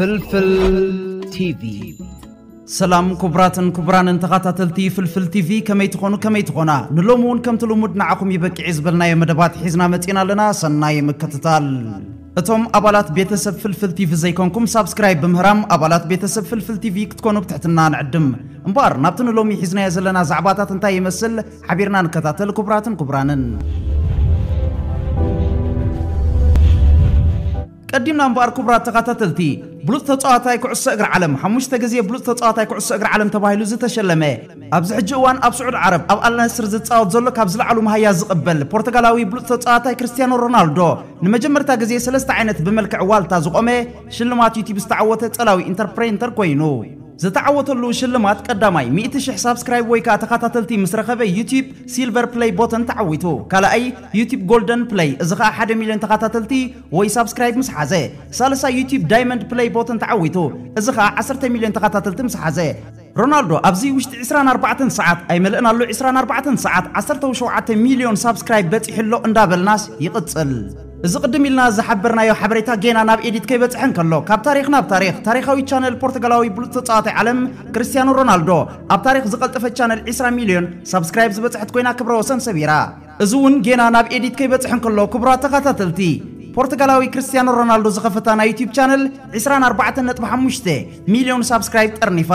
ፍልፍል ቲቪ። ሰላም ክቡራትን ክቡራንን ተኸታተልቲ ፍልፍል ቲቪ፣ ከመይ ትኾኑ፣ ከመይ ትኾና? ንሎሚ እውን ከምቲ ልሙድ ንዓኹም ይበቅዕ ዝበልናዮ መደባት ሒዝና መጺና ኣለና። ሰናይ ምክትታል። እቶም ኣባላት ቤተሰብ ፍልፍል ቲቪ ዘይኮንኩም ሳብስክራይብ ብምህራም ኣባላት ቤተሰብ ፍልፍል ቲቪ ክትኮኑ ብትሕትና ንዕድም። እምበኣር ናብቲ ንሎሚ ሒዝናዮ ዘለና ዛዕባታት እንታይ ይመስል ሓቢርና ንከታተል። ክቡራትን ክቡራንን፣ ቀዲምና እምበኣር ክቡራት ተኸታተልቲ፣ ብሉጽ ተጻዋታይ ኩዕሶ እግሪ ዓለም፣ ሓሙሽተ ግዜ ብሉጽ ተጻዋታይ ኩዕሶ እግሪ ዓለም ተባሂሉ ዝተሸለመ፣ ኣብዚ ሕጂ እዋን ኣብ ስዑድ ዓረብ ኣብ ኣልናስር ዝጻወት ዘሎ ካብ ዝለዓሉ መሃያ ዝቕበል ፖርቱጋላዊ ብሉጽ ተጻዋታይ ክርስቲያኖ ሮናልዶ ንመጀመርታ ግዜ ሰለስተ ዓይነት ብመልክዕ ዋልታ ዝቖመ ሽልማት ዩቲዩብ ዝተዓወተ ጸላዊ ኢንተርፕሬንተር ኮይኑ፣ ዝተዓወተሉ ሽልማት ቀዳማይ ሚእቲ ሽሕ ሳብስክራይብ ወይ ከዓ ተኸታተልቲ ምስ ረኸበ ዩቲዩብ ሲልቨር ፕለይ ቦተን ተዓዊቱ። ካልኣይ ዩቲዩብ ጎልደን ፕለይ፣ እዚ ከዓ ሓደ ሚልዮን ተኸታተልቲ ወይ ሳብስክራይብ ምስ ሓዘ። ሳልሳይ ዩቲዩብ ዳይመንድ ፕለይ ቦተን ተዓዊቱ፣ እዚ ከዓ ዓሰርተ ሚልዮን ተኸታተልቲ ምስ ሓዘ። ሮናልዶ ኣብዚ ውሽጢ ዕስራን ኣርባዕተን ሰዓት፣ ኣይመልእን ኣሎ ዕስራን ኣርባዕተን ሰዓት፣ ዓሰርተ ሸውዓተ ሚልዮን ሳብስክራይብ በፂሑ ኣሎ እንዳበልናስ ይቕፅል። እዚ ቅድም ኢልና ዝሓበርናዮ ሓበሬታ ጌና ናብ ኤዲት ከይበፅሐ እንከሎ፣ ካብ ታሪኽ ናብ ታሪኽ፣ ታሪኻዊ ቻነል ፖርቱጋላዊ ብሉፅ ተፃዋታይ ዓለም ክርስቲያኖ ሮናልዶ፣ ኣብ ታሪኽ ዝቐልጠፈ ቻነል ዕስራ ሚልዮን ሳብስክራይብ ዝበፅሐት ኮይና ክብረ ወሰን ሰቢራ። እዚ እውን ጌና ናብ ኤዲት ከይበፅሐ እንከሎ፣ ክቡራት ተኸታተልቲ፣ ፖርቱጋላዊ ክርስቲያኖ ሮናልዶ ዝኸፈታ ናይ ዩቲዩብ ቻነል ዕስራን ኣርባዕተን ነጥቢ ሓሙሽተ ሚልዮን ሳብስክራይብ ጠርኒፋ።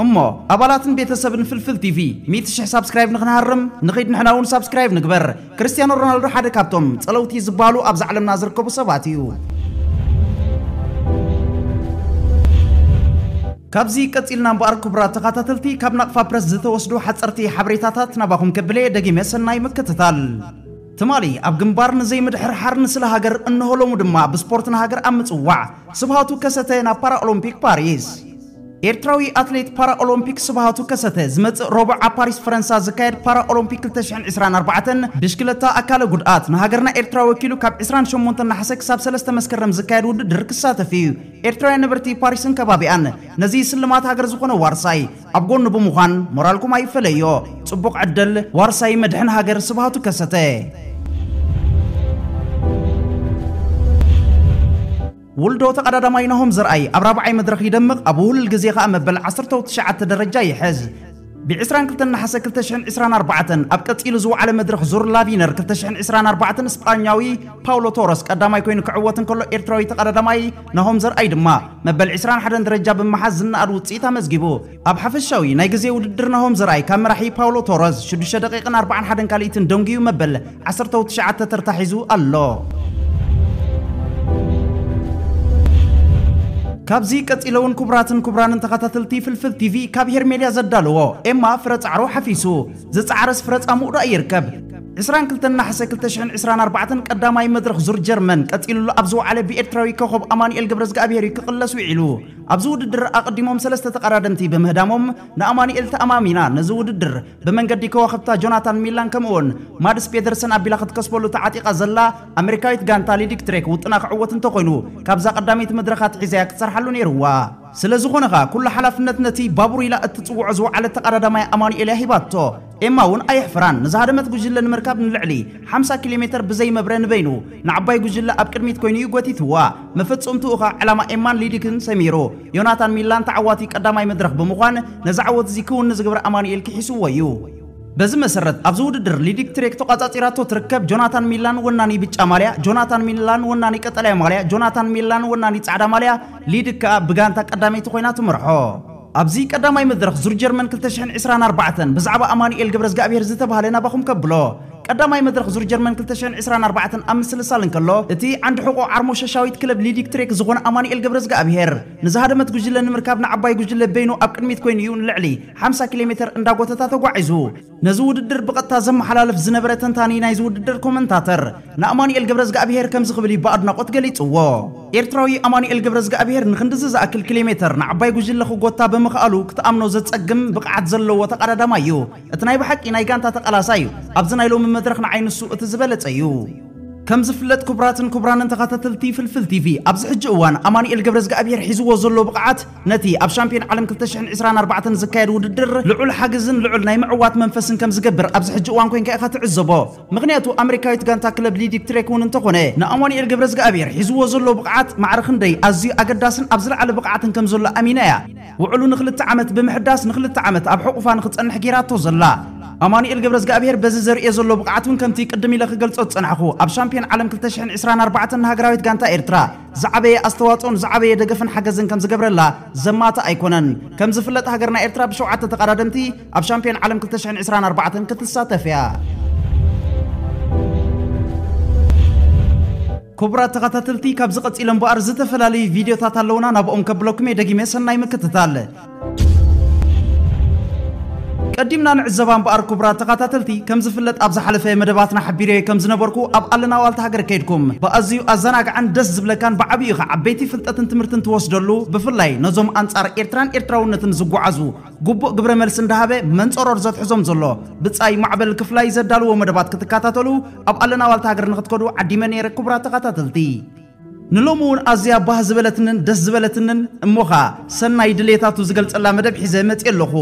እሞ ኣባላትን ቤተሰብን ፍልፍል ቲቪ ሚእቲ ሽሕ ሳብስክራይብ ንኽንሃርም ንኺድ፣ ንሕና እውን ሳብስክራይብ ንግበር። ክርስቲያኖ ሮናልዶ ሓደ ካብቶም ጸለውቲ ዝበሃሉ ኣብዛ ዓለምና ዝርከቡ ሰባት እዩ። ካብዚ ቀጺልና እምበኣር ክቡራት ተኸታተልቲ፣ ካብ ናቕፋ ፕረስ ዝተወስዱ ሓጸርቲ ሓበሬታታት ናባኹም ከብለ ደጊመ ሰናይ ምክትታል። ትማሊ ኣብ ግንባር ንዘይምድሕርሓር ንስለ ሃገር፣ እንሆ ሎሙ ድማ ብስፖርት ንሃገር ኣብ ምጽዋዕ ስብሃቱ ከሰተ ናብ ፓራኦሎምፒክ ፓሪስ። ኤርትራዊ ኣትሌት ፓራኦሎምፒክ ስብሃቱ ከሰተ ዝመጽእ ረቡዕ ኣብ ፓሪስ ፈረንሳ ዝካየድ ፓራኦሎምፒክ ክልተ ሽሕን ዕስራን ኣርባዕተን ብሽክለታ ኣካለ ጉድኣት ንሃገርና ኤርትራ ወኪሉ ካብ ዕስራን ሸሞንተን ነሓሰ ክሳብ ሰለስተ መስከረም ዝካየድ ውድድር ክሳተፍ እዩ። ኤርትራውያን ነበርቲ ፓሪስን ከባቢኣን ነዚ ስልማት ሃገር ዝኾነ ዋርሳይ ኣብ ጎኑ ብምዃን ሞራልኩም ኣይፈለዮ። ጽቡቕ ዕድል ዋርሳይ መድሕን ሃገር ስብሃቱ ከሰተ። ውልዶ ተቐዳዳማይ ናሆም ዘርኣይ ኣብ ራብዓይ መድረኽ ይደምቕ፣ ኣብ ውህሉል ግዜ ኸኣ መበል ዓሰርተ ትሽዓተ ደረጃ ይሕዝ። ብ ዕስራን ክልተን ነሓሰ ክልተ ሽሕን ዕስራን ኣርባዕተን ኣብ ቀጺሉ ዝወዓለ መድረኽ ዙር ላቪነር ክልተ ሽሕን ዕስራን ኣርባዕተን ስጳኛዊ ፓውሎ ቶረስ ቀዳማይ ኮይኑ ክዕወት እንከሎ፣ ኤርትራዊ ተቐዳዳማይ ናሆም ዘርኣይ ድማ መበል ዕስራን ሓደን ደረጃ ብምሓዝ ዝነኣድ ውጽኢት ኣመዝጊቡ። ኣብ ሓፈሻዊ ናይ ግዜ ውድድር ናሆም ዘርኣይ ካብ መራሒ ፓውሎ ቶረስ ሽዱሽተ ደቂቕን ኣርባዓን ሓደን ካልኢትን ደንጉዩ መበል ዓሰርተ ትሽዓተ ተርታ ሒዙ ኣሎ። ካብዚ ቀጺለ እውን ክቡራትን ክቡራንን ተኸታተልቲ ፍልፍል ቲቪ ካብ ሄርሜልያ ዘዳለዎ ኤማ ፍረ ጻዕሩ ሓፊሱ፣ ዝጸዓረስ ፍረ ጻምኡ ደኣ ይርከብ። ዕስራን ክልተን ነሓሰ ክልተ ሽሕን ዕስራን ኣርባዕተን ቀዳማይ መድረኽ ዙር ጀርመን ቀጺሉሉ ኣብ ዝወዓለ ብኤርትራዊ ኮኸብ ኣማኑኤል ገብረዝግኣብሄር እዩ ክቕለስ ውዒሉ። ኣብዚ ውድድር ኣቐዲሞም ሰለስተ ተቐዳደምቲ ብምህዳሞም ንኣማኑኤል ተኣማሚና ነዚ ውድድር ብመንገዲ ከዋኽብታ ጆናታን ሚላን ከምኡውን ማድስ ፔደርሰን ኣቢላ ክትከስበሉ ተዓጢቓ ዘላ ኣሜሪካዊት ጋንታ ሊዲክ ትሬክ ውጥና ክዕወት እንተኾይኑ፣ ካብዛ ቀዳመይቲ መድረኻ ኣትሒዛያ ክትሰርሓሉ ነይርዋ። ስለ ዝኾነ ኸኣ ኩሉ ሓላፍነት ነቲ ባቡር ኢላ እትጽውዖ ዝወዓለት ተቐዳዳማይ ኣማኑኤል እያ ሂባቶ። ኤማ እውን ኣየሕፍራን። ንዝሃደመት ጉጅለ ንምርካብ ንልዕሊ ሓምሳ ኪሎ ሜተር ብዘይ መብረ ንበይኑ ንዓባይ ጉጅለ ኣብ ቅድሚት ኮይኑ እዩ ጎቲትዋ። መፈጸምትኡ ኸኣ ዕላማ ኤማን ሊዲክን ሰሚሩ። ዮናታን ሚላን ተዓዋቲ ቀዳማይ መድረኽ ብምዃን ነዚ ዓወት እዚ ክውን ንዝገበረ ኣማኑኤል ክሒስዎ እዩ። በዚ መሰረት ኣብዚ ውድድር ሊዲክ ትሬክ ተቋጻጺራቶ ትርከብ። ጆናታን ሚላን ወናኒ ብጫ ማልያ፣ ጆናታን ሚላን ወናኒ ቀጠልያ ማልያ፣ ጆናታን ሚላን ወናኒ ጻዕዳ ማልያ፣ ሊዲክ ከኣ ብጋንታ ቀዳመይቲ ኮይና ትመርሖ። ኣብዚ ቀዳማይ መድረኽ ዙር ጀርመን ክልተ ሽሕን ዕስራን ኣርባዕተን ብዛዕባ ኣማኑኤል ገብረዝግኣብሄር ዝተባህለ ናባኹም ከብሎ። ቀዳማይ መድረኽ ዙር ጀርመን ክልተ ሽሕን ዕስራን ኣርባዕተን ኣብ ምስልሳል እንከሎ፣ እቲ ዓንዲ ሕቖ ዓርሞሸሻዊት ክለብ ሊዲክ ትሬክ ዝኾነ ኣማኑኤል ገብረዝግኣብሄር ንዝሃደመት ጉጅለ ንምርካብ ንዓባይ ጉጅለ በይኑ ኣብ ቅድሚት ኮይኑ እዩ ንልዕሊ ሓምሳ ኪሎ ሜተር እንዳጎተታ ተጓዒዙ። ነዚ ውድድር ብቐጥታ ዘመሓላልፍ ዝነበረ ተንታኒ ናይዚ ውድድር ኮመንታተር ንኣማኑኤል ገብረዝግኣብሄር ከምዚ ክብል እዩ ብኣድናቖት ገሊጽዎ። ኤርትራዊ ኣማኑኤል ገብረዝግኣብሄር ንኽንድዚ ዝኣክል ኪሎ ሜተር ንዓባይ ጉጅለ ክጎታ ብምኽኣሉ ክትኣምኖ ዘጸግም ብቕዓት ዘለዎ ተቐዳዳማይ እዩ። እቲ ናይ ብሓቂ ናይ ጋንታ ተቓላሳይ እዩ። ኣብዚ ናይ ሎሚ መድረኽ ንዓይ ንሱ እቲ ዝበለጸ እዩ። ከም ዝፍለጥ ክቡራትን ክቡራንን ተኸታተልቲ ፍልፍል ቲቪ፣ ኣብዚ ሕጂ እዋን ኣማኑኤል ገብረዝግኣብሄር ሒዝዎ ዘሎ ብቕዓት ነቲ ኣብ ሻምፒዮን ዓለም ክልተ ሽሕን ዕስራን ኣርባዕተን ዝካየድ ውድድር ልዑል ሓገዝን ልዑል ናይ ምዕዋት መንፈስን ከም ዝገብር ኣብዚ ሕጂ እዋን ኮይንካ ኢኻ ትዕዘቦ። ምኽንያቱ ኣመሪካዊት ጋንታ ክለብ ሊዲክ ትሬክ እውን እንተኾነ ንኣማኑኤል ገብረዝግኣብሄር ሒዝዎ ዘሎ ብቕዓት ማዕረ ክንደይ ኣዝዩ ኣገዳስን ኣብ ዝለዓለ ብቕዓትን ከም ዘሎ ኣሚና እያ። ውዕሉ ንክልተ ዓመት ብምሕዳስ ንክልተ ዓመት ኣብ ሕቑፋ ንክጸንሕ ጌራቶ ዘላ። ኣማኑኤል ገብረዝግኣብሄር በዚ ዘርእዮ ዘሎ ብቕዓት እውን ከምቲ ቅድም ኢለ ክገልጾ ዝጸናሕኩ ኣብ ሻምፒዮን ዓለም ክልተ ሽሕን ዕስራን ኣርባዕተን ንሃገራዊት ጋንታ ኤርትራ ዝዓበየ ኣስተዋጽኦን ዝዓበየ ደገፍን ሓገዝን ከም ዝገብረላ ዘማታ ኣይኮነን። ከም ዝፍለጥ ሃገርና ኤርትራ ብሸውዓተ ተቐዳደምቲ ኣብ ሻምፒዮን ዓለም ክልተ ሽሕን ዕስራን ኣርባዕተን ክትሳተፍ እያ። ክቡራት ተኸታተልቲ፣ ካብዚ ቀጺለ እምበኣር ዝተፈላለዩ ቪድዮታት ኣለዉና፣ ናብኦም ከብለኩም እየ። ደጊመ ሰናይ ምክትታል። ቀዲምና ንዕዘባ እምበኣር ክቡራት ተኸታተልቲ፣ ከም ዝፍለጥ ኣብ ዝሓለፈ መደባትና ሓቢረዮ ከም ዝነበርኩ ኣብ ኣለና ዋልታ ሃገር ከይድኩም ብኣዝዩ ኣዘናግዓን ደስ ዝብለካን ብዓብዩ ኸዓ ዓበይቲ ፍልጠትን ትምህርትን ትወስደሉ፣ ብፍላይ ነዞም ኣንጻር ኤርትራን ኤርትራውነትን ዝጓዓዙ ግቡእ ግብረ መልሲ እንዳሃበ መንጸሮር ዘትሕዞም ዘሎ ብጻይ ማዕበል ክፍላይ ዘዳልዎ መደባት ክትከታተሉ ኣብ ኣለና ዋልታ ሃገር ንክትከዱ ዓዲመ ነይረ። ክቡራት ተኸታተልቲ፣ ንሎሚ እውን ኣዝያ ባህ ዝበለትንን ደስ ዝበለትንን እሞ ኸኣ ሰናይ ድሌታቱ ዝገልጸላ መደብ ሒዘ መጽየ ኣለኹ።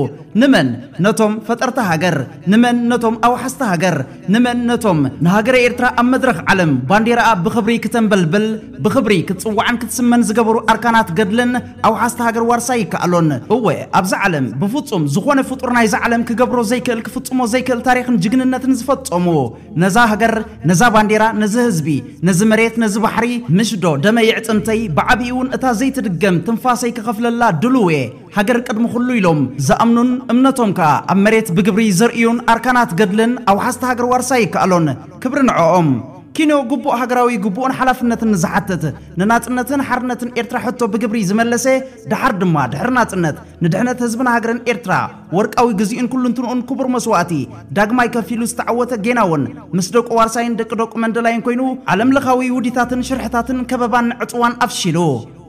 ንመን ነቶም ፈጠርቲ ሃገር፣ ንመን ነቶም ኣውሓስቲ ሃገር፣ ንመን ነቶም ንሃገረ ኤርትራ ኣብ መድረኽ ዓለም ባንዴራኣ ብኽብሪ ክተንበልብል፣ ብኽብሪ ክትጽዋዕን ክትስመን ዝገበሩ ኣርካናት ገድልን ኣውሓስቲ ሃገር ዋርሳይ ይከኣሎን። እወ፣ ኣብዛ ዓለም ብፍጹም ዝኾነ ፍጡር ናይዛ ዓለም ክገብሮ ዘይክእል፣ ክፍጽሞ ዘይክእል ታሪኽን ጅግንነትን ዝፈጸሙ፣ ነዛ ሃገር፣ ነዛ ባንዴራ፣ ነዚ ህዝቢ፣ ነዚ መሬት፣ ነዚ ባሕሪ፣ ምሽ ዶ ደመይ የዕጽምተይ፣ ብዓቢኡ እውን እታ ዘይትድገም ትንፋሰይ ክኸፍለላ ድሉው እየ። ሃገር ቅድሚ ኩሉ ኢሎም ዝኣምኑን እምነቶም ከኣ ኣብ መሬት ብግብሪ ዘርእዩን ኣርካናት ገድልን ኣውሓስቲ ሃገር ዋርሳይ ይከኣሎን። ክብሪ ንዕኦም። ኪኖ ግቡእ ሃገራዊ ግቡእን ሓላፍነትን ንዝሓትት፣ ንናጽነትን ሓርነትን ኤርትራ ሕቶ ብግብሪ ዝመለሰ፣ ደሓር ድማ ድሕሪ ናጽነት ንድሕነት ህዝብን ሃገርን ኤርትራ ወርቃዊ ግዜኡን ኩሉንትንኡን ክቡር መስዋእቲ ዳግማይ ከፊሉ ዝተዓወተ፣ ጌና እውን ምስ ደቁ ዋርሳይን ደቂ ደቁ መንደላይን ኮይኑ ዓለም ለኻዊ ውዲታትን ሽርሕታትን ከበባን ዕጽዋን ኣፍሺሉ፣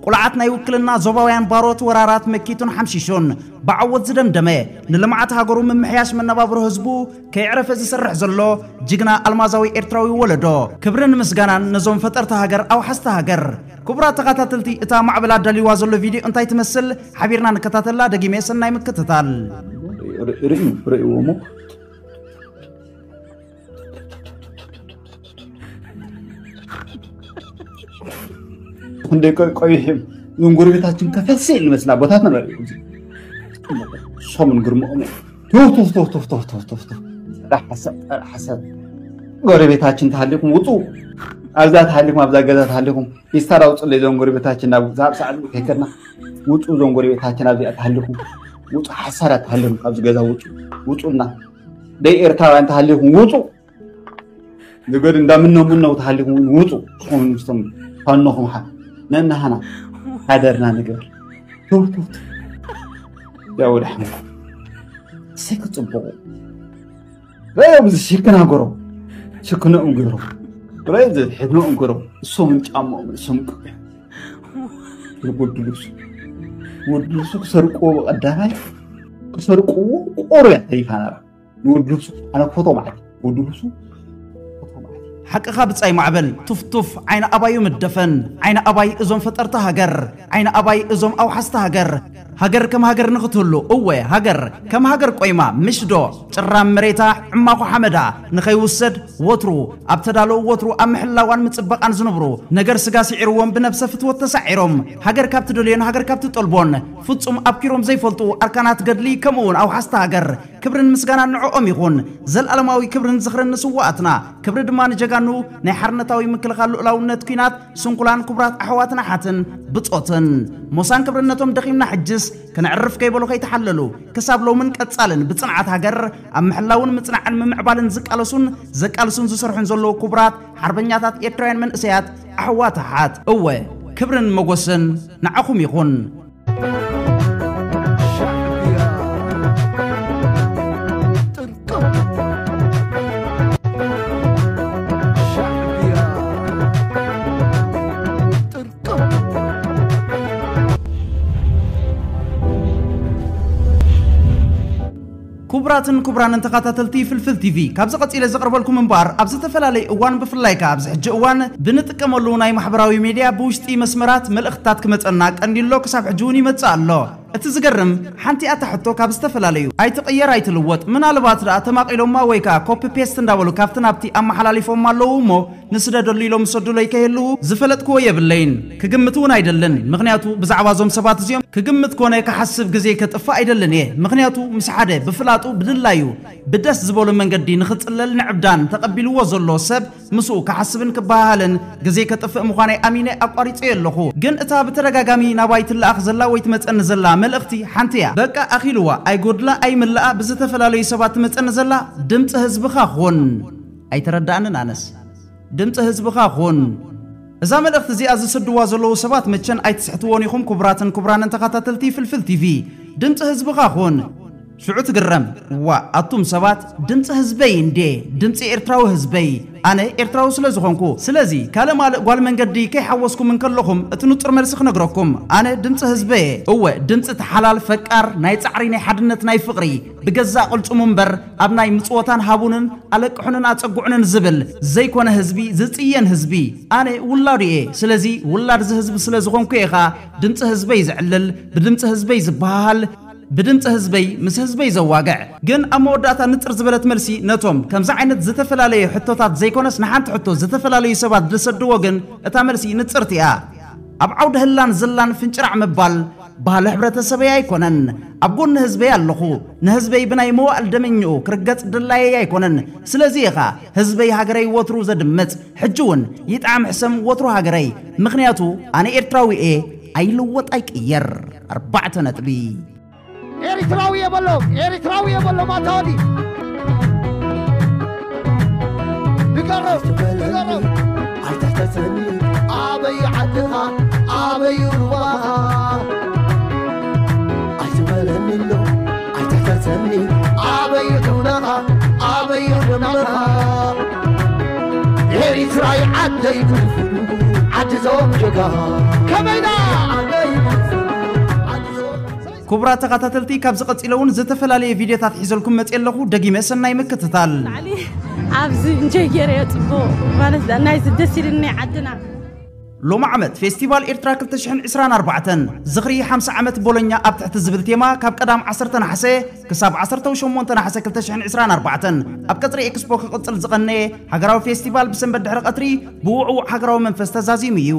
ቁልዓት ናይ ውክልና ዞባውያን ባሮት ወራራት መኪቱን ሓምሺሹን ብዓወት ዝደምደመ፣ ንልምዓት ሃገሩ ምምሕያሽ መነባብሮ ህዝቡ ከየዕረፈ ዝሰርሕ ዘሎ ጅግና ኣልማዛዊ ኤርትራዊ ወለዶ፣ ክብርን ምስጋናን ነዞም ፈጠርቲ ሃገር፣ ኣውሓስቲ ሃገር። ክቡራት ተኸታተልቲ፣ እታ ማዕበል ኣዳልዋ ዘሎ ቪድዮ እንታይ ትመስል? ሓቢርና ንከታተላ። ደጊመ ሰናይ ምክትታል። ርእዩ፣ ርእይዎ እሞ። ክንደይ ቆ-፣ ቆይሑ እዮም። እዞም ጎረቤታችን ከፈስ ይል መስላ ቦታትና በል። ሶምን ግርምኦም እዮም። ቱፍ፣ ቱፍ፣ ቱፍ። ጸረ ሓሳብ፣ ጸረ ሓሳብ። ጎረቤታችን ተሃሊኹም ውጹ። ኣብዛ ተሃሊኹም፣ ኣብዛ ገዛ ተሃሊኹም። ፊስታል ኣውጽለይ እዞም ጎረቤታችን ናብ ሳብ ሳዕሉ ከይከድና። ውጹ እዞም ጎረቤታችን ኣብዚኣ ተሃሊኹም። ውጹ ሓሳዳት ተሃሊኹም ካብዚ ገዛ ውጹ። ውጹና። ደይ ኤርትራውያን ተሃሊኹም ውጹ። ንገዱ እንዳምነው ምነው ተሃሊኹም እውን ውጹ። ንስኹም ምስቶም ፋኖኹም ሓ-፣ ነናሃና ሓደርና ንግበር። ቱፍ፣ ቱፍ፣ ቱፍ። ያው ደሕና። እሰይ ክጽብቑ። ረዮም እዚ ሽክና ገሮም። ሽክንኦም ገሮም። ረዮም እዚ ሕድኖም ገሮም። እሶምን ጫማኦም፣ እሶም ቅያ። ወዲ ልብሱ። ወዲ ልብሱ ክሰርቅዎ ብቐዳማይ። ክሰርቅዎ ቆርያ ተሪፋ ነራ። ንወዲ ልብሱ ኣነ ክፈትዎ ማለት እዩ። ወዲ ልብሱ ክፈትዎ ማለት እዩ። ሓቅኻ ብጻይ ማዕበል፣ ቱፍቱፍ ዓይኒ ኣባዩ ምደፈን፣ ዓይኒ ኣባይ እዞም ፈጠርቲ ሃገር፣ ዓይኒ ኣባይ እዞም ኣውሓስቲ ሃገር። ሃገር ከም ሃገር ንኽትህሉ፣ እወ፣ ሃገር ከም ሃገር ቆይማ፣ ምሽ ዶ ጭራም መሬታ፣ ዕማኹ ሓመዳ ንኸይውሰድ፣ ወትሩ ኣብ ተዳሎ፣ ወትሩ ኣብ ምሕላዋን ምጽበቓን ዝነብሩ፣ ነገር ስጋ ስዒርዎም ብነብሰ ፍትወት ተሳዒሮም፣ ሃገር ካብ ትደልዮን ሃገር ካብ ትጠልቦን ፍጹም ኣብኪሮም ዘይፈልጡ ኣርካናት ገድሊ፣ ከምኡ እውን ኣውሓስቲ ሃገር፣ ክብርን ምስጋናን ንዕኦም ይኹን። ዘልኣለማዊ ክብርን ዝኽርን ንስውኣትና፣ ክብሪ ድማ ንጀጋኑ ናይ ሓርነታዊ ምክልኻል ልኡላውነት ኲናት ስንኩላን ክቡራት ኣሕዋትን ኣሓትን ብጾትን። ሞሳን ክብርነቶም ደኺምና ሕጅስ ከነዕርፍ ከይበሉ ከይተሓለሉ፣ ክሳብ ሎምን ቀጻልን ብጽንዓት ሃገር ኣብ ምሕላውን ምጽናዕን ምምዕባልን ዝቃለሱን ዘቃልሱን ዝሰርሑን ዘለዉ ክቡራት ሓርበኛታት ኤርትራውያን መንእሰያት ኣሕዋት ኣሓት። እወ፣ ክብርን መጎስን ንዓኹም ይኹን። ክቡራትን ክቡራንን ተኸታተልቲ ፍልፍል ቲቪ፣ ካብዚ ቀጺለ ዘቕርበልኩም እምበኣር፣ ኣብ ዝተፈላለየ እዋን፣ ብፍላይ ከኣ ኣብዚ ሕጂ እዋን ብንጥቀመሉ ናይ ማሕበራዊ ሜድያ ብውሽጢ መስመራት መልእኽትታት ክመጸና ቀንዲሎ ክሳብ ሕጂ እውን ይመጽእ ኣሎ። እቲ ዝገርም፣ ሓንቲኣ እታ ሕቶ ካብ ዝተፈላለዩ ኣይትቕየር ኣይትልወጥ፣ ምናልባት ደኣ ተማቒሎማ ወይ ከኣ ኮፒ ፔስት እንዳበሉ ካብቲ ናብቲ ኣመሓላሊፎማ ኣለዉ እሞ ንስደደሉ ኢሎም ዝሰዱለይ ከየልዉ ዝፈለጥክዎ የብለይን። ክግምት እውን ኣይደልን፣ ምኽንያቱ ብዛዕባ እዞም ሰባት እዚኦም ክግምት ኮነ ክሓስብ ግዜ ከጥፍእ ኣይደልን እየ። ምኽንያቱ ምስ ሓደ ብፍላጡ ብድላዩ ብደስ ዝበሎ መንገዲ ንኽጽለል ንዕብዳን ተቐቢልዎ ዘሎ ሰብ ምስኡ ክሓስብን ክበሃሃልን ግዜ ከጥፍእ ምዃነይ ኣሚነ ኣቋሪጸዮ ኣለኹ። ግን እታ ብተደጋጋሚ ናባይ ትለኣኽ ዘላ ወይ ትመጸኒ ዘላ መልእኽቲ ሓንቲ እያ። በቃ ኣኺልዋ፣ ኣይጎድላ ኣይምልኣ ብዝተፈላለዩ ሰባት ትመጸኒ ዘላ ድምጺ ህዝብኻ ኹን። ኣይተረዳእንን ኣነስ። ድምጺ ህዝብኻ ኹን። እዛ መልእኽቲ እዚኣ ዝሰድዋ ዘለዉ ሰባት መቸን ኣይትስሕትዎን ኢኹም ክቡራትን ክቡራንን ተኸታተልቲ ፍልፍል ቲቪ። ድምጺ ህዝብኻ ኹን። ሽዑ ትግረም። ዋ፣ ኣቱም ሰባት፣ ድምጺ ህዝበይ እንዴ፣ ድምጺ ኤርትራዊ ህዝበይ። ኣነ ኤርትራዊ ስለ ዝኾንኩ፣ ስለዚ ካልእ ማልእ ጓል መንገዲ ከይሓወስኩም እንከለኹም እቲ ንጹር መልሲ ክነግረኩም። ኣነ ድምጺ ህዝበየ። እወ፣ ድምጺ እቲ ሓላል፣ ፈቃር፣ ናይ ጻዕሪ፣ ናይ ሓድነት፣ ናይ ፍቕሪ፣ ብገዛእ ቅልጽሙ እምበር ኣብ ናይ ምጽወታን ሃቡንን ኣለቅሑንን ኣጸጉዑንን ዝብል ዘይኮነ ህዝቢ፣ ዝጽየን ህዝቢ። ኣነ ውላዱ እየ። ስለዚ ውላድ እዚ ህዝቢ ስለ ዝኾንኩ እየ ኸኣ ድምጺ ህዝበይ ዘዕልል፣ ብድምጺ ህዝበይ ዝበሃሃል፣ ብድምጺ ህዝበይ ምስ ህዝበይ ዘዋግዕ። ግን ኣብ መወዳእታ ንጽር ዝበለት መልሲ ነቶም ከምዚ ዓይነት ዝተፈላለየ ሕቶታት ዘይኮነስ ንሓንቲ ሕቶ ዝተፈላለዩ ሰባት ዝሰድዎ ግን እታ መልሲ ንጽርቲ እያ። ኣብ ዓውዲ ህላን ዝላን ፍንጭራዕ ምባል ባህሊ ሕብረተሰበይ ኣይኮነን። ኣብ ጎኒ ህዝበይ ኣለኹ። ንህዝበይ ብናይ መዋእል ደመኝኡ ክርገጽ ድላየይ ኣይኮነን። ስለዚ ኢኻ ህዝበይ ሃገረይ ወትሩ ዘድምጽ። ሕጂ እውን ይጥዓም ሕሰም ወትሩ ሃገረይ። ምኽንያቱ ኣነ ኤርትራዊ እየ፣ ኣይልወጥ ኣይቅየር። ኣርባዕተ ነጥቢ። ኤርትራዊ እየ በሎ፣ ኤርትራዊ እየ በሎ፣ ማታወዲ። ንገሮም፣ ንገሮም። ኣይትሕተተኒ፣ ኣበይ ዓድኻ፣ ኣበይ ሩባኻ? ኣይትበለኒ ኣሎ፣ ኣይትሕተተኒ፣ ኣበይ ዑናኻ፣ ኣበይ ዑናኻ? ኤርትራይ ዓደይ ፍልፍሉ፣ ዓዲ ዞም ጀጋኻ። ከመይና? ዓደይ ፍልፍሉ፣ ዓዲ ዞም ክቡራት ተኸታተልቲ፣ ካብዚ ቀጺለ እውን ዝተፈላለየ ቪድዮታት ሒዘልኩም መጽየ ኣለኹ። ደጊመ ሰናይ ምክትታል። ላዕሊ ኣብዚ እንጆይ ገይረዮ ጽቡቕ ማለት ናይዚ ደስ ኢሉኒ ናይ ዓድና። ሎሚ ዓመት ፌስቲቫል ኤርትራ ክልተ ሽሕን ዕስራን ኣርባዕተን ዝኽሪ ሓምሳ ዓመት ቦሎኛ ኣብ ትሕቲ ዝብል ቴማ ካብ ቀዳም ዓሰርተ ነሓሰ ክሳብ ዓሰርተ ሸሞንተ ነሓሰ ክልተ ሽሕን ዕስራን ኣርባዕተን ኣብ ቀጽሪ ኤክስፖ ክቕጽል ዝቐነየ ሃገራዊ ፌስቲቫል ብሰንበት ድሕሪ ቀትሪ ብውዕዉዕ ሃገራዊ መንፈስ ተዛዚሙ እዩ።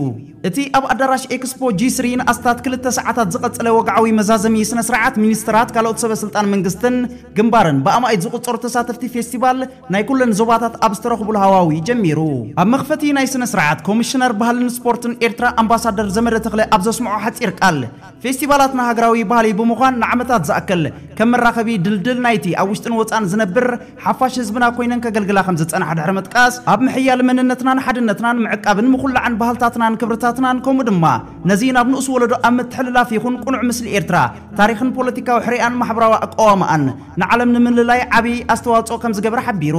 እቲ ኣብ ኣዳራሽ ኤክስፖ ጂ ስሪ ንኣስታት ክልተ ሰዓታት ዝቐጸለ ወግዓዊ መዛዘሚ ስነ ስርዓት ሚኒስትራት፣ ካልኦት ሰበ ስልጣን መንግስትን ግንባርን ብኣማኢት ዝቑጸሩ ተሳተፍቲ ፌስቲቫል ናይ ኩለን ዞባታት ኣብ ዝተረኽቡሉ ሃዋዊ ጀሚሩ። ኣብ መኽፈቲ ናይ ስነ ስርዓት ኮሚሽነር ባህልን ስፖርትን ኤርትራ ኣምባሳደር ዘመደ ተኽለ ኣብ ዘስምዖ ሓጺር ቃል፣ ፌስቲቫላትና ሃገራዊ ባህሊ ብምዃን ንዓመታት ዝኣክል ከም መራኸቢ ድልድል ናይቲ ኣብ ውሽጥን ወጻእን ዝነብር ሓፋሽ ህዝብና ኮይነን ከገልግላ ከም ዝጸንሓ ድሕሪ ምጥቃስ፣ ኣብ ምሕያል መንነትናን ሓድነትናን ምዕቃብን ምኹላዕን ባህልታትናን ክብርታትናን ከምኡ ድማ ነዚ ናብ ንኡስ ወለዶ ኣብ ምትሕልላፍ ይኹን ቅኑዕ ምስሊ ኤርትራ፣ ታሪኽን ፖለቲካዊ ሕሪኣን ማሕበራዊ ኣቃዋማኣን ንዓለም ንምልላይ ዓቢ ኣስተዋጽኦ ከም ዝገበረ ሓቢሩ።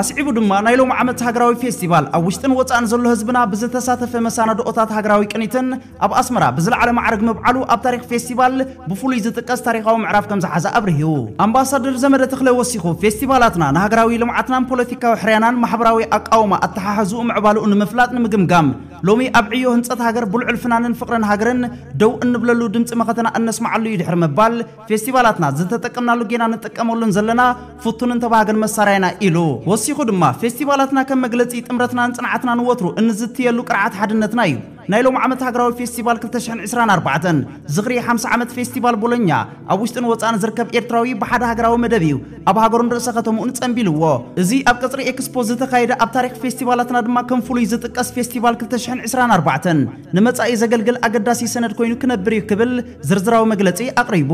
ኣስዒቡ ድማ ናይ ሎሚ ዓመት ሃገራዊ ፌስቲቫል ኣብ ውሽጥን ወጻእን ዘሎ ህዝብና ብዝተሳተፈ መሳናድኦታት ሃገራዊ ቅኒትን ኣብ ኣስመራ ብዝለዓለ ማዕርግ ምብዓሉ ኣብ ታሪኽ ፌስቲቫል ብፍሉይ ዝጥቀስ ታሪኻዊ ምዕራፍ ከም ዝሓዘ ኣብሪሁ። ኣምባሳደር ዘመደ ተኽለ ወሲኹ፣ ፌስቲቫላትና ንሃገራዊ ልምዓትናን ፖለቲካዊ ሕርያናን ማሕበራዊ ኣቃውማ ኣተሓሕዝኡ ምዕባልኡ ንምፍላጥ ንምግምጋም፣ ሎሚ ኣብ ዕዮ ህንጸት ሃገር ብልዑል ፍናንን ፍቕርን ሃገርን ደው እንብለሉ ድምጺ መኸተና እነስምዓሉ እዩ ድሕሪ ምባል፣ ፌስቲቫላትና ዝተጠቀምናሉ ጌና ንጥቀመሉን ዘለና ፍቱንን ተባሃገን መሳርያና ኢሉ። ወሲኹ ድማ፣ ፌስቲቫላትና ከም መግለጺ ጥምረትናን ጽንዓትናን ወትሩ እንዝትየሉ ቅርዓት ሓድነትና እዩ። ናይ ሎም ዓመት ሃገራዊ ፌስቲቫል ክልተ ሽሕን ዕስራን ኣርባዕተን ዝኽሪ ሓምሳ ዓመት ፌስቲቫል ቦሎኛ ኣብ ውሽጥን ወጻእን ዝርከብ ኤርትራዊ ብሓደ ሃገራዊ መደብ እዩ ኣብ ሃገሩን ርእሰ ከተምኡን ጸንቢልዎ። እዚ ኣብ ቀጽሪ ኤክስፖ ዝተኻየደ ኣብ ታሪኽ ፌስቲቫላትና ድማ ከም ፍሉይ ዝጥቀስ ፌስቲቫል ክልተ ሽሕን ዕስራን ኣርባዕተን ንመጻኢ ዘገልግል ኣገዳሲ ሰነድ ኮይኑ ክነብር እዩ ክብል ዝርዝራዊ መግለጺ ኣቕሪቡ።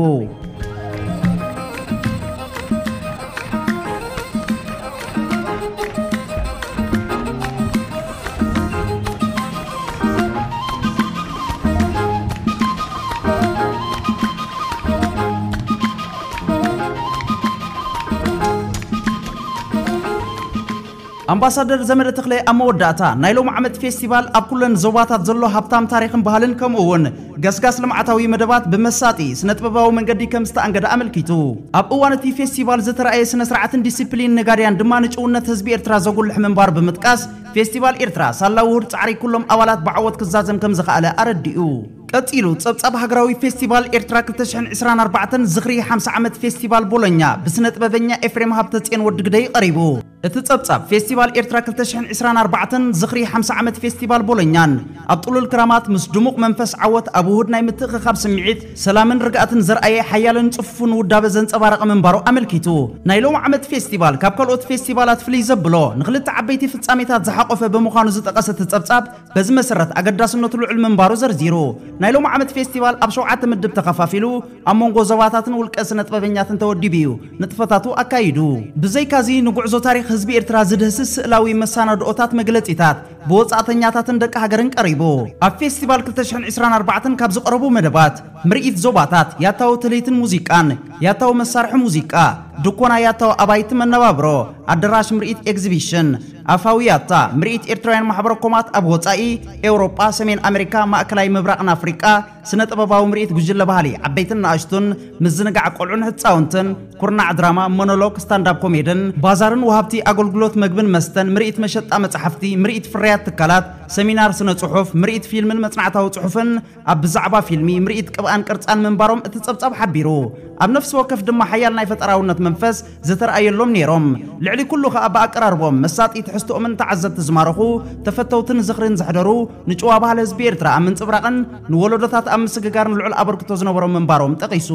ኣምባሳደር ዘመደ ተኽለ ኣብ መወዳእታ፣ ናይ ሎም ዓመት ፌስቲቫል ኣብ ኩለን ዞባታት ዘሎ ሃብታም ታሪኽን ባህልን ከምኡ እውን ገስጋስ ልምዓታዊ መደባት ብመሳጢ ስነ ጥበባዊ መንገዲ ከም ዝተኣንገደ ኣመልኪቱ። ኣብ እዋን እቲ ፌስቲቫል ዝተረኣየ ስነ ስርዓትን ዲሲፕሊን ነጋድያን ድማ ንጭውነት ህዝቢ ኤርትራ ዘጉልሕ ምንባር ብምጥቃስ፣ ፌስቲቫል ኤርትራ ሳላ ውሁድ ጻዕሪ ኩሎም ኣባላት ብዓወት ክዛዘም ከም ዝኸኣለ ኣረዲኡ። ቀጺሉ፣ ጸብጻብ ሃገራዊ ፌስቲቫል ኤርትራ ክልተ ሽሕን ዕስራን ኣርባዕተን ዝኽሪ ሓምሳ ዓመት ፌስቲቫል ቦሎኛ ብስነ ጥበበኛ ኤፍሬም ሃብተጽዮን ወዲ ግደይ ቀሪቡ። እቲ ጸብጻብ፣ ፌስቲቫል ኤርትራ ክልተ ሽሕን ዕስራን ኣርባዕተን ዝኽሪ ሓምሳ ዓመት ፌስቲቫል ቦሎኛን ኣብ ጥሉል ክራማት ምስ ድሙቕ መንፈስ ዓወት ኣብ ውሁድ ናይ ምትእኽኻብ ስምዒት፣ ሰላምን ርግኣትን ዘርኣየ ሓያልን ጽፉፍን ውዳበ ዘንጸባረቐ ምንባሩ ኣመልኪቱ። ናይ ሎም ዓመት ፌስቲቫል ካብ ካልኦት ፌስቲቫላት ፍልይ ዘብሎ ንኽልተ ዓበይቲ ፍጻሜታት ዝሓቖፈ ብምዃኑ ዝጠቐሰ እቲ ጸብጻብ፣ በዚ መሰረት ኣገዳስነቱ ልዑል ምንባሩ ዘርዚሩ። ናይ ሎም ዓመት ፌስቲቫል ኣብ ሸውዓተ ምድብ ተኸፋፊሉ፣ ኣብ መንጎ ዞባታትን ውልቀ ስነ ጥበበኛትን ተወዲቡ እዩ ንጥፈታቱ ኣካይዱ። ብዘይካዚ፣ ንጉዕዞ ታሪኽ ህዝቢ ኤርትራ ዝድህስስ ስእላዊ መሰናድኦታት፣ መግለጺታት ብወጻእተኛታትን ደቂ ሃገርን ቀሪቡ። ኣብ ፌስቲቫል ክልተ ሽሕን ዕስራን ኣርባዕተን ካብ ዝቐረቡ መደባት፣ ምርኢት ዞባታት፣ ያታዊ ትልሂትን ሙዚቃን፣ ያታዊ መሳርሒ ሙዚቃ፣ ድኮና ያታዊ ኣባይቲ መነባብሮ፣ ኣደራሽ ምርኢት ኤግዚቢሽን፣ ኣፋዊ ያታ፣ ምርኢት ኤርትራውያን ማሕበረ ኮማት ኣብ ወጻኢ፣ ኤውሮጳ፣ ሰሜን ኣሜሪካ፣ ማእከላይ ምብራቕን ኣፍሪቃ፣ ስነ ጥበባዊ ምርኢት ጉጅለ ባህሊ ዓበይትን ንኣሽቱን፣ ምዝንጋዕ ቆልዑን ህጻውንትን፣ ኩርናዕ ድራማ፣ ሞኖሎግ፣ ስታንዳፕ ኮሜድን፣ ባዛርን ወሃብቲ ኣገልግሎት መግብን መስተን፣ ምርኢት መሸጣ መጻሕፍቲ፣ ምርኢት ፍርያት ትካላት፣ ሰሚናር ስነ ጽሑፍ፣ ምርኢት ፊልምን መጽናዕታዊ ጽሑፍን፣ ኣብ ብዛዕባ ፊልሚ፣ ምርኢት ቅብኣን ቅርጻን ምንባሮም እቲ ጸብጻብ ሓቢሩ። ኣብ ነፍሲ ወከፍ ድማ ሓያል ናይ ፈጠራውነት መንፈስ ዝተረኣየሎም ነይሮም። ልዕሊ ኩሉ ከኣ ብኣቀራርቦም መሳጢ ትሕዝቶኦምን ተዓዘብቲ ዝማረኹ ተፈተውትን ዝኽርን ዘሕደሩ ንጭዋ ባህሊ ህዝቢ ኤርትራ ኣብ ምንጽብራቕን ንወለዶታት ኣብ ምስግጋርን ልዑል ኣበርክቶ ዝነበሮም ምንባሮም ጠቒሱ።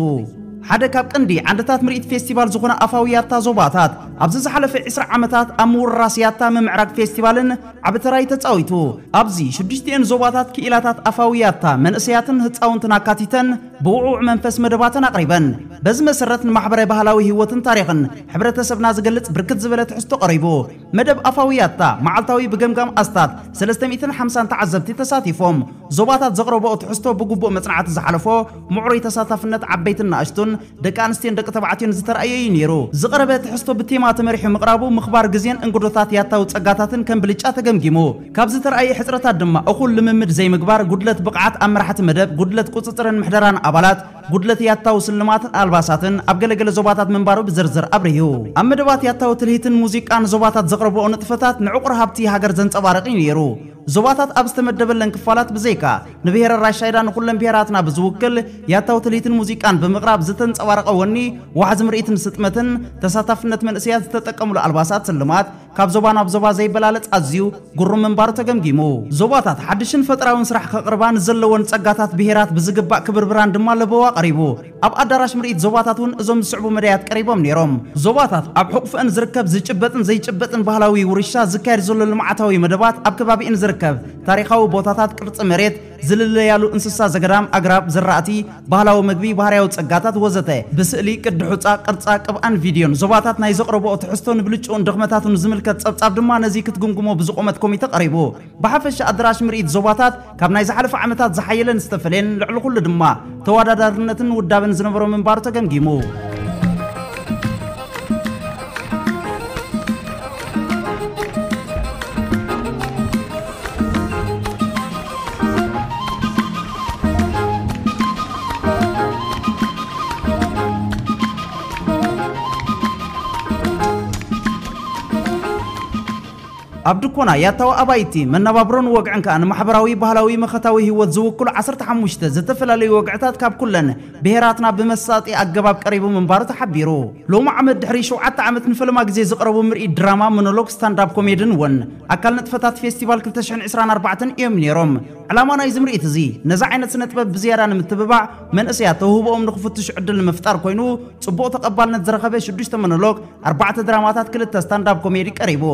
ሓደ ካብ ቀንዲ ዓንድታት ምርኢት ፌስቲቫል ዝኾነ ኣፋዊ ያታ ዞባታት፣ ኣብዚ ዝሓለፈ ዕስራ ዓመታት ኣብ ምውርራስ ያታ ምምዕራግ ፌስቲቫልን ዓቢ ተራ እዩ ተጻዊቱ። ኣብዚ ሽዱሽቲኤን ዞባታት ክኢላታት ኣፋዊ ያታ መንእሰያትን ህጻውንትን ኣካቲተን ብውዕውዕ መንፈስ መደባተን ኣቕሪበን። በዚ መሰረት ንማሕበረ ባህላዊ ህይወትን ታሪኽን ሕብረተሰብና ዝገልጽ ብርክት ዝበለ ትሕዝቶ ቀሪቡ። መደብ ኣፋዊ ያታ መዓልታዊ ብገምጋም ኣስታት ሰለስተ ሚእትን ሓምሳን ተዓዘብቲ ተሳቲፎም። ዞባታት ዘቕረብኦ ትሕዝቶ ብግቡእ መጽናዕቲ ዝሓለፎ፣ ምዕሩይ ተሳታፍነት ዓበይትን ንኣሽቱን፣ ደቂ ኣንስትዮን ደቂ ተባዕትዮን ዝተራእየ እዩ ነይሩ። ዝቐረበ ትሕዝቶ ብቴማ ተመሪሑ ምቕራቡ፣ ምኽባር ግዜን እንግዶታት ያታዊ ጸጋታትን ከም ብልጫ ተገምጊሙ። ካብ ዝተራእየ ሕጽረታት ድማ፣ እኹል ልምምድ ዘይምግባር፣ ጉድለት ብቕዓት ኣብ መራሕቲ መደብ፣ ጉድለት ቁጽጽርን ምሕደራን ኣባላት፣ ጉድለት ያታዊ ስልማትን ኣልባሳትን ኣብ ገለገለ ዞባታት ምንባሩ ብዝርዝር ኣብሪሁ። ኣብ መደባት ያታዊ ትልሂትን ሙዚቃን ዞባታት ዘቕረብኦ ንጥፈታት ንዕቑር ሃብቲ ሃገር ዘንጸባርቕ እዩ ነይሩ። ዞባታት ኣብ ዝተመደበለን ክፋላት ብዘይካ፣ ንብሄረ ራሻይዳ ንኹለን ብሄራትና ብዝውክል ያታዊ ትልሂትን ሙዚቃን ብምቕራብ ዝተንጸባረቐ ወኒ፣ ዋሕዚ ምርኢትን ስጥመትን፣ ተሳታፍነት መንእሰያት፣ ዝተጠቀምሉ ኣልባሳት፣ ስልማት፣ ካብ ዞባ ናብ ዞባ ዘይበላለጽ ኣዝዩ ግሩም ምንባሩ ተገምጊሙ። ዞባታት ሓድሽን ፈጠራውን ስራሕ ከቕርባ ንዘለወን ጸጋታት ብሄራት ብዝግባእ ክብርብራን ድማ ለበዋ ቀሪቡ። ኣብ ኣዳራሽ ምርኢት ዞባታት እውን እዞም ዝስዕቡ መዳያት ቀሪቦም ነይሮም። ዞባታት ኣብ ሕቑፍአን ዝርከብ ዝጭበጥን ዘይጭበጥን ባህላዊ ውርሻ፣ ዝካየድ ዘሎ ልምዓታዊ መደባት፣ ኣብ ከባቢእን ዝርከብ ታሪኻዊ ቦታታት፣ ቅርጺ መሬት፣ ዝልለያሉ እንስሳ ዘገዳም፣ ኣግራብ፣ ዝራእቲ፣ ባህላዊ መግቢ፣ ባህርያዊ ጸጋታት ወዘተ ብስእሊ፣ ቅዲ ሑጻ፣ ቅርጻ፣ ቅብኣን ቪድዮን ዞባታት ናይ ዘቕረብኦ ትሕዝቶ ንብልጭኡን ድኽመታቱን ዝምልከት ጸብጻብ ድማ ነዚ ክትግምግሞ ብዝቖመት ኮሚተ ቀሪቡ። ብሓፈሻ ኣዳራሽ ምርኢት ዞባታት ካብ ናይ ዝሓለፈ ዓመታት ዝሓየለን ዝተፈለየን፣ ልዕሊ ኩሉ ድማ ተወዳዳርነትን ውዳበን ዝነበሮ ምንባሩ ተገምጊሙ። ኣብ ድኮና ያታዊ ኣባይቲ መነባብሮን ወግዕን ከኣ ንማሕበራዊ ባህላዊ መኸታዊ ህይወት ዝውክሉ ዓሰርተ ሓሙሽተ ዝተፈላለዩ ወግዕታት ካብ ኩለን ብሄራትና ብመሳጢ ኣገባብ ቀሪቡ ምንባሩ ተሓቢሩ። ሎሚ ዓመት ድሕሪ ሸውዓተ ዓመት ንፈለማ ግዜ ዝቐረቡ ምርኢት ድራማ፣ ሞኖሎግ፣ ስታንዳፕ ኮሜድን እውን ኣካል ንጥፈታት ፌስቲቫል ክልተ ሽሕን ዕስራን ኣርባዕተን እዮም ነይሮም። ዕላማ ናይዚ ምርኢት እዚ ነዚ ዓይነት ስነ ጥበብ ብዝያዳ ንምትብባዕ፣ መንእሰያት ተውህቦኦም ንኽፍትሹ ዕድል ንምፍጣር ኮይኑ፣ ጽቡቕ ተቐባልነት ዝረኸበ ሽዱሽተ ሞኖሎግ፣ ኣርባዕተ ድራማታት፣ ክልተ ስታንዳፕ ኮሜዲ ቀሪቡ።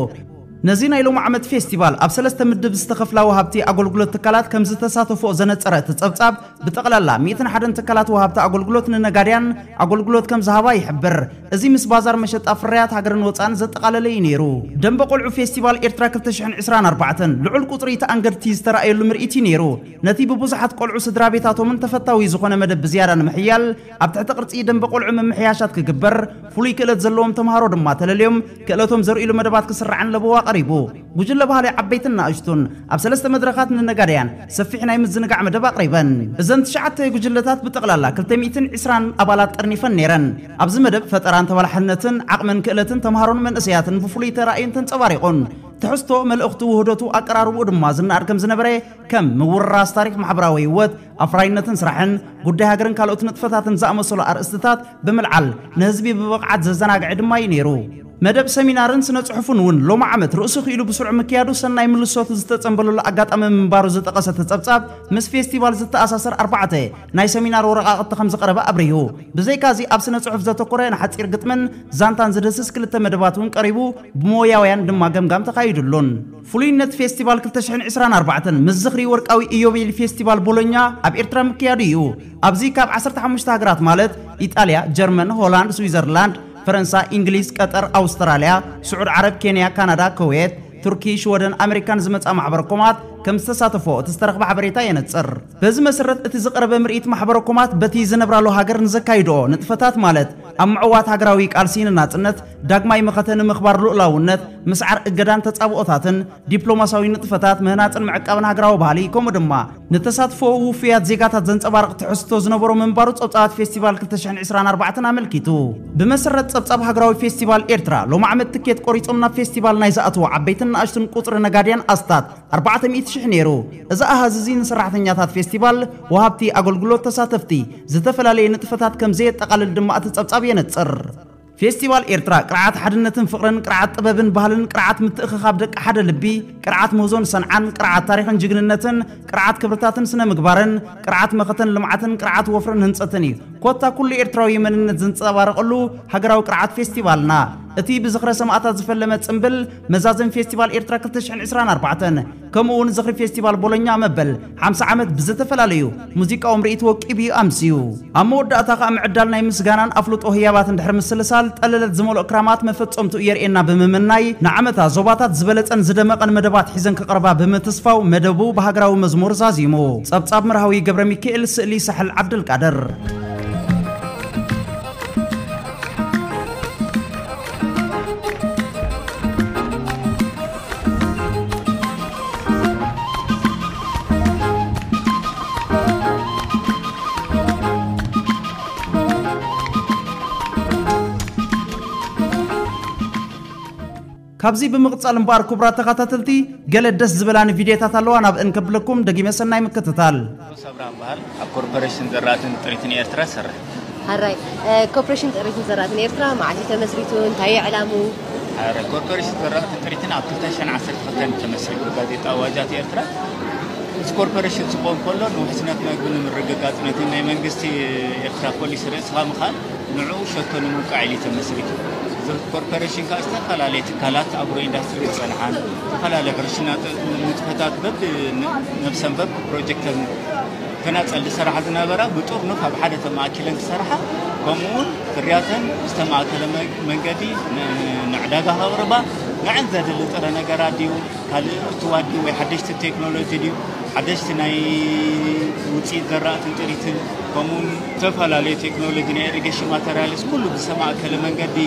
ነዚ ናይ ሎም ዓመት ፌስቲቫል ኣብ ሰለስተ ምድብ ዝተኸፍላ ወሃብቲ ኣገልግሎት ትካላት ከም ዝተሳተፎ ዘነጸረ እቲ ጸብጻብ፣ ብጠቕላላ ሚእትን ሓደን ትካላት ወሃብቲ ኣገልግሎት ንነጋድያን ኣገልግሎት ከም ዝሃባ ይሕብር። እዚ ምስ ባዛር መሸጣ ፍርያት ሃገርን ወጻእን ዘጠቓለለ እዩ ነይሩ። ደንበ ቆልዑ ፌስቲቫል ኤርትራ ክልተ ሽሕን ዕስራን ኣርባዕተን ልዑል ቁጽሪ ተኣንገድቲ ዝተራእየሉ ምርኢት እዩ ነይሩ። ነቲ ብብዙሓት ቆልዑ ስድራ ቤታቶምን ተፈታዊ ዝኾነ መደብ ብዝያዳ ንምሕያል፣ ኣብ ትሕቲ ቅርጺ ደንበ ቆልዑ ምምሕያሻት ክግበር፣ ፍሉይ ክእለት ዘለዎም ተምሃሮ ድማ ተለልዮም ክእለቶም ዘርእሉ መደባት ክስራዕን ለበዋ ቀሪቡ። ጉጅለ ባህሊ ዓበይትን ንኣሽቱን ኣብ ሰለስተ መድረኻት ንነጋድያን ሰፊሕ ናይ ምዝንጋዕ መደብ ኣቕሪበን። እዘን ትሽዓተ ጉጅለታት ብጠቕላላ ክልተ ሚእትን ዕስራን ኣባላት ጠርኒፈን ነይረን። ኣብዚ መደብ ፈጠራን ተባላሕነትን ዓቕምን ክእለትን ተምሃሮን መንእሰያትን ብፍሉይ ተራእዩን ተንጸባሪቑን። ትሕዝቶ፣ መልእኽቱ፣ ውህደቱ፣ ኣቀራርብኡ ድማ ዝነኣድ ከም ዝነበረ፣ ከም ምውርራስ ታሪኽ ማሕበራዊ ህይወት፣ ኣፍራይነትን ስራሕን፣ ጉዳይ ሃገርን ካልኦት ንጥፈታትን ዝኣመሰሉ ኣርእስትታት ብምልዓል ንህዝቢ ብብቕዓት ዘዘናግዐ ድማ እዩ ነይሩ። መደብ ሰሚናርን ስነ ጽሑፍን እውን ሎሚ ዓመት ርእሱ ክኢሉ ብስሩዕ ምክያዱ ሰናይ ምልሶት ዝተጸንበለሉ ኣጋጣሚ ምንባሩ ዝጠቐሰ ተጸብጻብ፣ ምስ ፌስቲቫል ዝተኣሳሰር ኣርባዕተ ናይ ሰሚናር ወረቓቕቲ ከም ዝቐረበ ኣብሪሁ። ብዘይካዚ ኣብ ስነ ጽሑፍ ዘተኮረ ንሓጺር ግጥምን ዛንታን ዝድህስስ ክልተ መደባት እውን ቀሪቡ፣ ብሞያውያን ድማ ገምጋም ተኻይዱሉን። ፍሉይነት ፌስቲቫል ክልተ ሽሕን ዕስራን ኣርባዕተን ምስ ዝኽሪ ወርቃዊ ኢዮቤል ፌስቲቫል ቦሎኛ ኣብ ኤርትራ ምክያዱ እዩ። ኣብዚ ካብ ዓሰርተ ሓሙሽተ ሃገራት ማለት ኢጣልያ፣ ጀርመን፣ ሆላንድ፣ ስዊዘርላንድ፣ ፈረንሳ፣ እንግሊዝ፣ ቀጠር፣ ኣውስትራልያ፣ ስዑድ ዓረብ፣ ኬንያ፣ ካናዳ፣ ኩዌት፣ ቱርኪ፣ ሽወደን፣ ኣሜሪካን ዝመጻ ማሕበረ ኮማት ከም ዝተሳተፎ እቲ ዝተረኽበ ሓበሬታ የነጽር። በዚ መሰረት እቲ ዝቐረበ ምርኢት ማሕበረ ኮማት በቲ ዝነብራሉ ሃገር ንዘካይድኦ ንጥፈታት ማለት ኣብ ምዕዋት ሃገራዊ ቃልሲ ንናጽነት፣ ዳግማይ መኸተ ንምኽባር ልኡላውነት፣ ምስዓር እገዳን ተጻብኦታትን፣ ዲፕሎማሲያዊ ንጥፈታት ምህናጽን ምዕቃብን ሃገራዊ ባህሊ፣ ከምኡ ድማ ንተሳትፎ ውፉያት ዜጋታት ዘንጸባርቕ ትሕዝቶ ዝነበሮ ምንባሩ ጸብጻባት ፌስቲቫል ክልተ ሽሕን ዕስራን ኣርባዕተን ኣመልኪቱ። ብመሰረት ጸብጻብ ሃገራዊ ፌስቲቫል ኤርትራ፣ ሎም ዓመት ትኬት ቆሪጾም ናብ ፌስቲቫል ናይ ዝኣትዉ ዓበይትን ንኣሽቱን ቁጽሪ ነጋድያን ኣስታት ኣርባዕተ ሚእቲ ሽሕ ነይሩ። እዚ ኣሃዝ እዚ ንሰራሕተኛታት ፌስቲቫል፣ ወሃብቲ ኣገልግሎት፣ ተሳተፍቲ፣ ዝተፈላለየ ንጥፈታት ከም ዘየጠቓልል ድማ እቲ ጸብጻብ የነጽር። ፌስቲቫል ኤርትራ ቅርዓት ሓድነትን ፍቕርን፣ ቅርዓት ጥበብን ባህልን፣ ቅርዓት ምትእኽኻብ ደቂ ሓደ ልቢ፣ ቅርዓት ምህዞን ሰንዓን፣ ቅርዓት ታሪኽን ጅግንነትን፣ ቅርዓት ክብርታትን ስነ ምግባርን፣ ቅርዓት መኸተን ልምዓትን፣ ቅርዓት ወፍርን ህንጸትን እዩ። ኮታ ኩሉ ኤርትራዊ መንነት ዘንጸባርቐሉ ሃገራዊ ቅርዓት ፌስቲቫልና። እቲ ብዝኽረ ሰማእታት ዝፈለመ ጽምብል፣ መዛዘም ፌስቲቫል ኤርትራ ክልተ ሽሕን ዕስራን ኣርባዕተን፣ ከምኡ እውን ዝኽሪ ፌስቲቫል ቦሎኛ መበል ሓምሳ ዓመት ብዝተፈላለዩ ሙዚቃዊ ምርኢት ወቂቡ እዩ ኣምስዩ። ኣብ መወዳእታ ከኣ ምዕዳል ናይ ምስጋናን ኣፍልጦ ህያባት እንድሕር ምስልሳል፣ ጠለለት ዝመልኦ ክራማት መፈጸምትኡ የርእየና ብምምናይ፣ ንዓመታ ዞባታት ዝበለጸን ዝደመቐን መደባት ሒዘን ክቐርባ ብምትስፋው፣ መደቡ ብሃገራዊ መዝሙር ዛዚሙ። ጸብጻብ መርሃዊ ገብረ ሚካኤል፣ ስእሊ ሳሕል ዓብደልቃድር። ካብዚ ብምቕጻል እምበኣር፣ ክቡራት ተኸታተልቲ፣ ገለ ደስ ዝበላኒ ቪድዮታት ኣለዋ፣ ናብእን ከብለኩም። ደጊመ ሰናይ ምክትታል። ቴድሮስ ኣብርሃ እበሃል። ኣብ ኮርፖሬሽን ዘራእትን ጥሪትን ኤርትራ እሰርሕ። ሓራይ፣ እ፣ ኮርፖሬሽን ጥሪትን ዘራእትን ኤርትራ መዓስ እዩ ተመስሪቱ? እንታይ እዩ ዕላሙ? ሓራይ፣ ኮርፖሬሽን ዘራእትን ጥሪትን ኣብ ክልተ ሽሕን ዓሰርተ ክልተን እዩ ተመስሪቱ። ጋዜጣ ኣዋጃት ኤርትራ፣ እዚ ኮርፖሬሽን ክቆም ከሎ፣ ንውሕስነት መግቢ ንምርግጋጽ፣ ነቲ ናይ መንግስቲ ኤርትራ ፖሊሲ ርእስኻ ምኻል፣ ንዕኡ ሸቶ ንምውቃዕ ኢሉ እዩ ተመስሪቱ። እዚ ኮርፖሬሽን ከኣ ዝተፈላለየ ትካላት ኣግሮ ኢንዳስትሪ ዝጸንሓን፣ ዝተፈላለየ ሕርሻ ንጥፈታት በብ ነብሰን በብ ፕሮጀክተን ተናጸል ዝሰርሓ ዝነበራ ብጥርኑፍ ኣብ ሓደ ተማእኪለን ክሰርሓ፣ ከምኡውን ፍርያተን ብዝተማእከለ መ-፣ መንገዲ ን-፣ ንዕዳጋ ከቕርባ፣ ንዐን ዘድሊ ጥረ ነገራት ድዩ፣ ካልእ እትዋት ድዩ፣ ወይ ሓደሽቲ ቴክኖሎጂ ድዩ፣ ሓደሽቲ ናይ ውጽኢት ዘራእትን ጥሪትን፣ ከምኡውን ዝተፈላለዩ ቴክኖሎጂ ናይ ኢሪጌሽን ማተርያልስ ኩሉ ብዝተማእከለ መንገዲ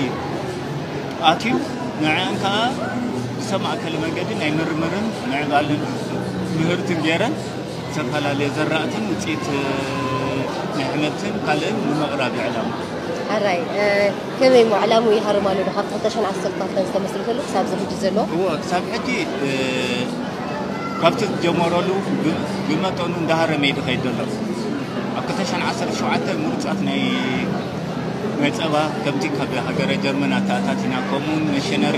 ኣትዩ፣ ንዐን ከኣ ብዝተማእከለ መንገዲ ናይ ምርምርን ምዕባልን ምህርትን ገይረን፣ ዝተፈላለየ ዘራእትን ውፅኢት ናይ ኣሕምልትን ካልእን ንምቕራብ ይዕለሙ። ሕራይ፣ እ፣ ከመይ እሞ ዕላሙ ይሃርም ኣሎ ዶ? ካብ ክልተ ሽሕን ዓሰርተ ክልተን ዝተመስረተሉ ክሳብ እዚ ሕጂ ዘሎ? እዎ፣ ክሳብ ሕጂ፣ እ፣ ካብቲ ዝጀመረሉ ብ-፣ ብመጠኑ እንዳሃረመ እዩ ዝኸይድ ዘሎ። ኣብ ክልተ ሽሕን ዓሰርተ ሸውዓተ ምሩፃት ናይ፣ ናይ ፀባ ከብቲ ካብ ሃገረ ጀርመን ኣተኣታቲና፣ ከምኡውን መሽነሪ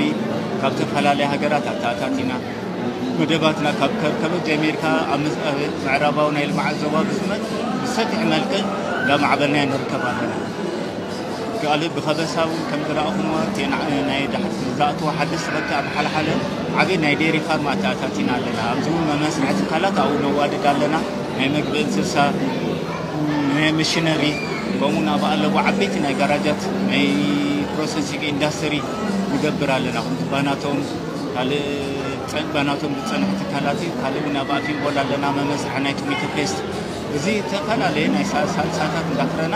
ካብ ዝተፈላለያ ሃገራት ኣተኣታቲና፣ መደባትና ካብ ከርከበት ጀሚርካ ኣብ ምዝ-፣ ኣብ ምዕራባዊ ናይ ልምዓት ዞባ ብዝመት ብሰፊሕ መልክዕ እንዳማዕበልናዮ ንርከብ ኣለና። ካልእ ብኸበሳ እውን ከም ዝረኣኹምዎ፣ እቲ ና-፣ ናይ ዳሕቲ ዝኣተወ ሓደሽቲ ከብቲ ኣብ ሓለሓለ ዓብዪ ናይ ዴሪ ፋርም ኣተኣታቲና ኣለና። ኣብዚ እውን መመስርሒ ትካላት ኣብኡ ነዋድድ ኣለና። ናይ መግቢ እንስሳ፣ ናይ መሽነሪ፣ ከምኡ ናብ ኣለቡ ዓበይቲ ናይ ጋራጃት፣ ናይ ፕሮሰሲንግ ኢንዳስትሪ ንገብር ኣለና። ከምቲ ባናቶም ካልእ ጸ-፣ ባናቶም ዝጸንሑ ትካላት እዩ። ካልእ እውን ኣብ ኣፊምቦል ኣለና፣ መመስርሒ ናይ ቶሜቶ ፔስት። እዚ ዝተፈላለየ ናይ ሳ-፣ ሳልሳታት እንዳፍረና፣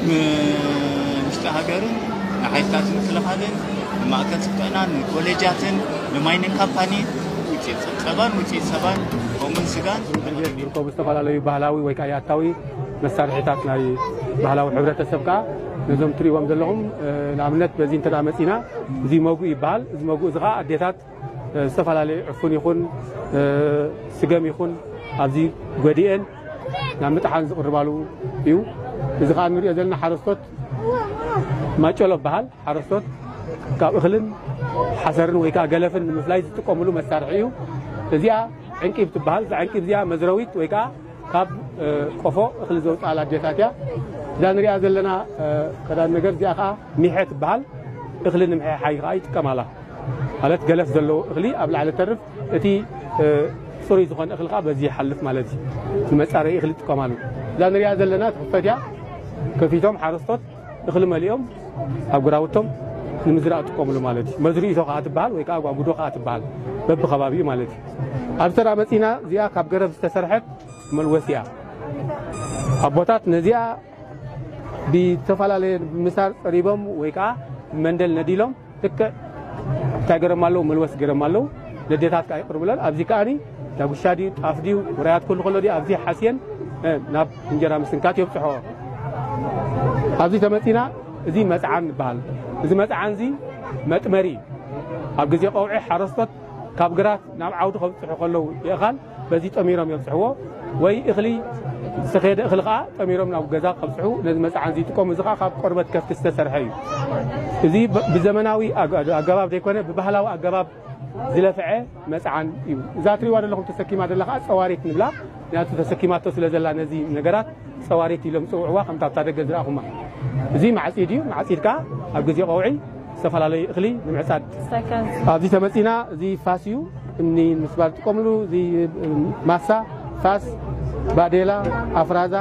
ን-፣ ውሽጢ ሃገርን ንሓይልታት ምክልኻልን ንማእከል ስልጠናን ንኮሌጃትን ንማይኒንግ ካምፓኒ ውፅኢት ፀባን ውፅኢት ሰባን ከምኡውን ስጋን ዝርከቡ ዝተፈላለዩ ባህላዊ ወይ ከዓ ያታዊ መሳርሒታት ናይ ባህላዊ ሕብረተሰብ ከዓ ነዞም ትሪእዎም ዘለኹም ንኣብነት በዚ እንተ መፂና እዚ መጉእ ይበሃል። እዚ መጉእ እዚ ከዓ ኣዴታት ዝተፈላለዩ ዕፉን ይኹን ስገም ይኹን ኣብዚ ጎዲኤን ናብ ምጥሓን ዝቕርባሉ እዩ። እዚ ከዓ ንሪኦ ዘለና ሓረስቶት ማጨሎ በሃል ሓረስቶት ካብ እኽልን ሓሰርን ወይ ከዓ ገለፍን ንምፍላይ ዝጥቀምሉ መሳርሒ እዩ። እዚኣ ዕንቂብ ትበሃል። እዛ ዕንቂብ እዚኣ መዝረዊት ወይ ከዓ ካብ ቆፎ እኽሊ ዘውፅኣላ ኣዴታት እያ። እዛ ንሪኣ ዘለና ቀዳም ነገር እዚኣ ከዓ ሚሐ ትበሃል። እኽሊ ንምሕሓይ ከዓ ይጥቀማላ። ማለት ገለፍ ዘለዎ እኽሊ ኣብ ላዕሊ ተርፍ፣ እቲ ፅሩይ ዝኾነ እኽሊ ከዓ በዚ ይሓልፍ ማለት እዩ። ንመፃረይ እኽሊ ይጥቀማሉ። እዛ ንሪኣ ዘለና ትኽፈት እያ። ከፊቶም ሓረስቶት እኽሊ መሊኦም ኣብ ግራውቶም ንምዝራእ ይጥቀምሉ ማለት እዩ። መዝርኢቶ ከዓ ትበሃል ወይ ከዓ ጓጉዶ ከዓ ትበሃል በብከባቢኡ ማለት እዩ። ኣብ ተራ መፂና እዚኣ ካብ ገረብ ዝተሰርሐት መልወስ እያ። ኣቦታት ነዚኣ ብዝተፈላለየ ምሳር ፀሪቦም ወይ ከዓ መንደል ነዲሎም ልክዕ እንታይ ገረም ኣለዉ መልወስ ገረም ኣለዉ። ነዴታት ከዓ ይቅርብለን ኣብዚ ከዓኒ ዳጉሻ ድዩ ጣፍ ድዩ ውራያት ኩሉ ከሎ ድዩ ኣብዚ ሓስየን ናብ እንጀራ ምስንካት የብፅሖ። ኣብዚ ተመፂና እዚ መፅዓን ይበሃል። እዚ መፅዓን እዚ መጥመሪ እዩ። ኣብ ግዜ ቀውዒ ሓረስቶት ካብ ግራት ናብ ዓውዲ ከብፅሑ ከለዉ የእኻል በዚ ጠሚሮም የብፅሕዎ። ወይ እኽሊ ዝተኸየደ እኽሊ ከዓ ጠሚሮም ናብ ገዛ ከብፅሑ ነዚ መፅዓን እዚ ይጥቀሙ። እዚ ከዓ ካብ ቆርበት ከፍቲ ዝተሰርሐ እዩ። እዚ ብዘመናዊ ኣገባብ ዘይኮነ ብባህላዊ ኣገባብ ዝለፍዐ መፅዓን እዩ። እዛ ትሪእዋ ዘለኹም ተሰኪማ ዘላ ከዓ ፀዋሪት ንብላ። ምክንያቱ ተሰኪማቶ ስለ ዘላ ነዚ ነገራት ፀዋሪት ኢሎም ዝፅውዕዋ ከምታ ኣብታ ደገ ዝረኣኹማ። እዚ ማዕፂድ እዩ። ማዕፂድ ከዓ ኣብ ግዜ ቀውዒ ዝተፈላለዩ እኽሊ ንምዕፃድ። ኣብዚ ተመፂና እዚ ፋስ እዩ። እምኒ ንምስባር ዝጥቀምሉ እዚ ማሳ፣ ፋስ፣ ባዴላ፣ ኣፍራዛ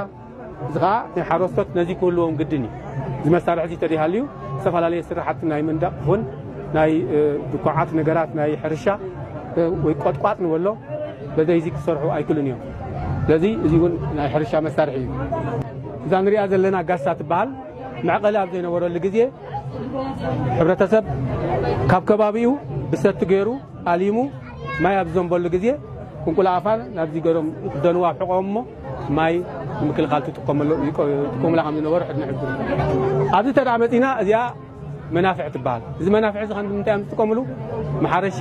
እዚ ከዓ ናይ ሓረስቶት ነዚ ክህልዎም ግድን እዩ። እዚ መሳርሒ እዚ ተደይሃልዩ ዝተፈላለዩ ስራሕቲ ናይ መንደቕ ይኹን ናይ ድኳዓት ነገራት ናይ ሕርሻ ወይ ቆጥቋጥ ንበሎ በዘይዚ ክሰርሑ ኣይክእሉን እዮም። ስለዚ እዚ እውን ናይ ሕርሻ መሳርሒ እዩ። እዛ ንሪኣ ዘለና ጋሳ ትበሃል። መዕቐሊ ኣብ ዘይነበረሉ ግዜ ሕብረተሰብ ካብ ከባቢኡ ብሰቲ ገይሩ ኣሊሙ ማይ ኣብ ዝዘንበሉ ግዜ ቁንቁላ ኣፋን ናብዚ ገሮም ክደንዋ ኣብ ሕቆም እሞ ማይ ንምክልኻል ትጥቀመሉ ይጥቀሙላ ከም ዝነበሩ ሕድነ ሕብር። ኣብዚ ተዳ መፂና እዚኣ መናፍዕ ትበሃል። እዚ መናፍዕ እዚ ከምዚ ምንታይ እዮም ዝጥቀምሉ? መሓረሻ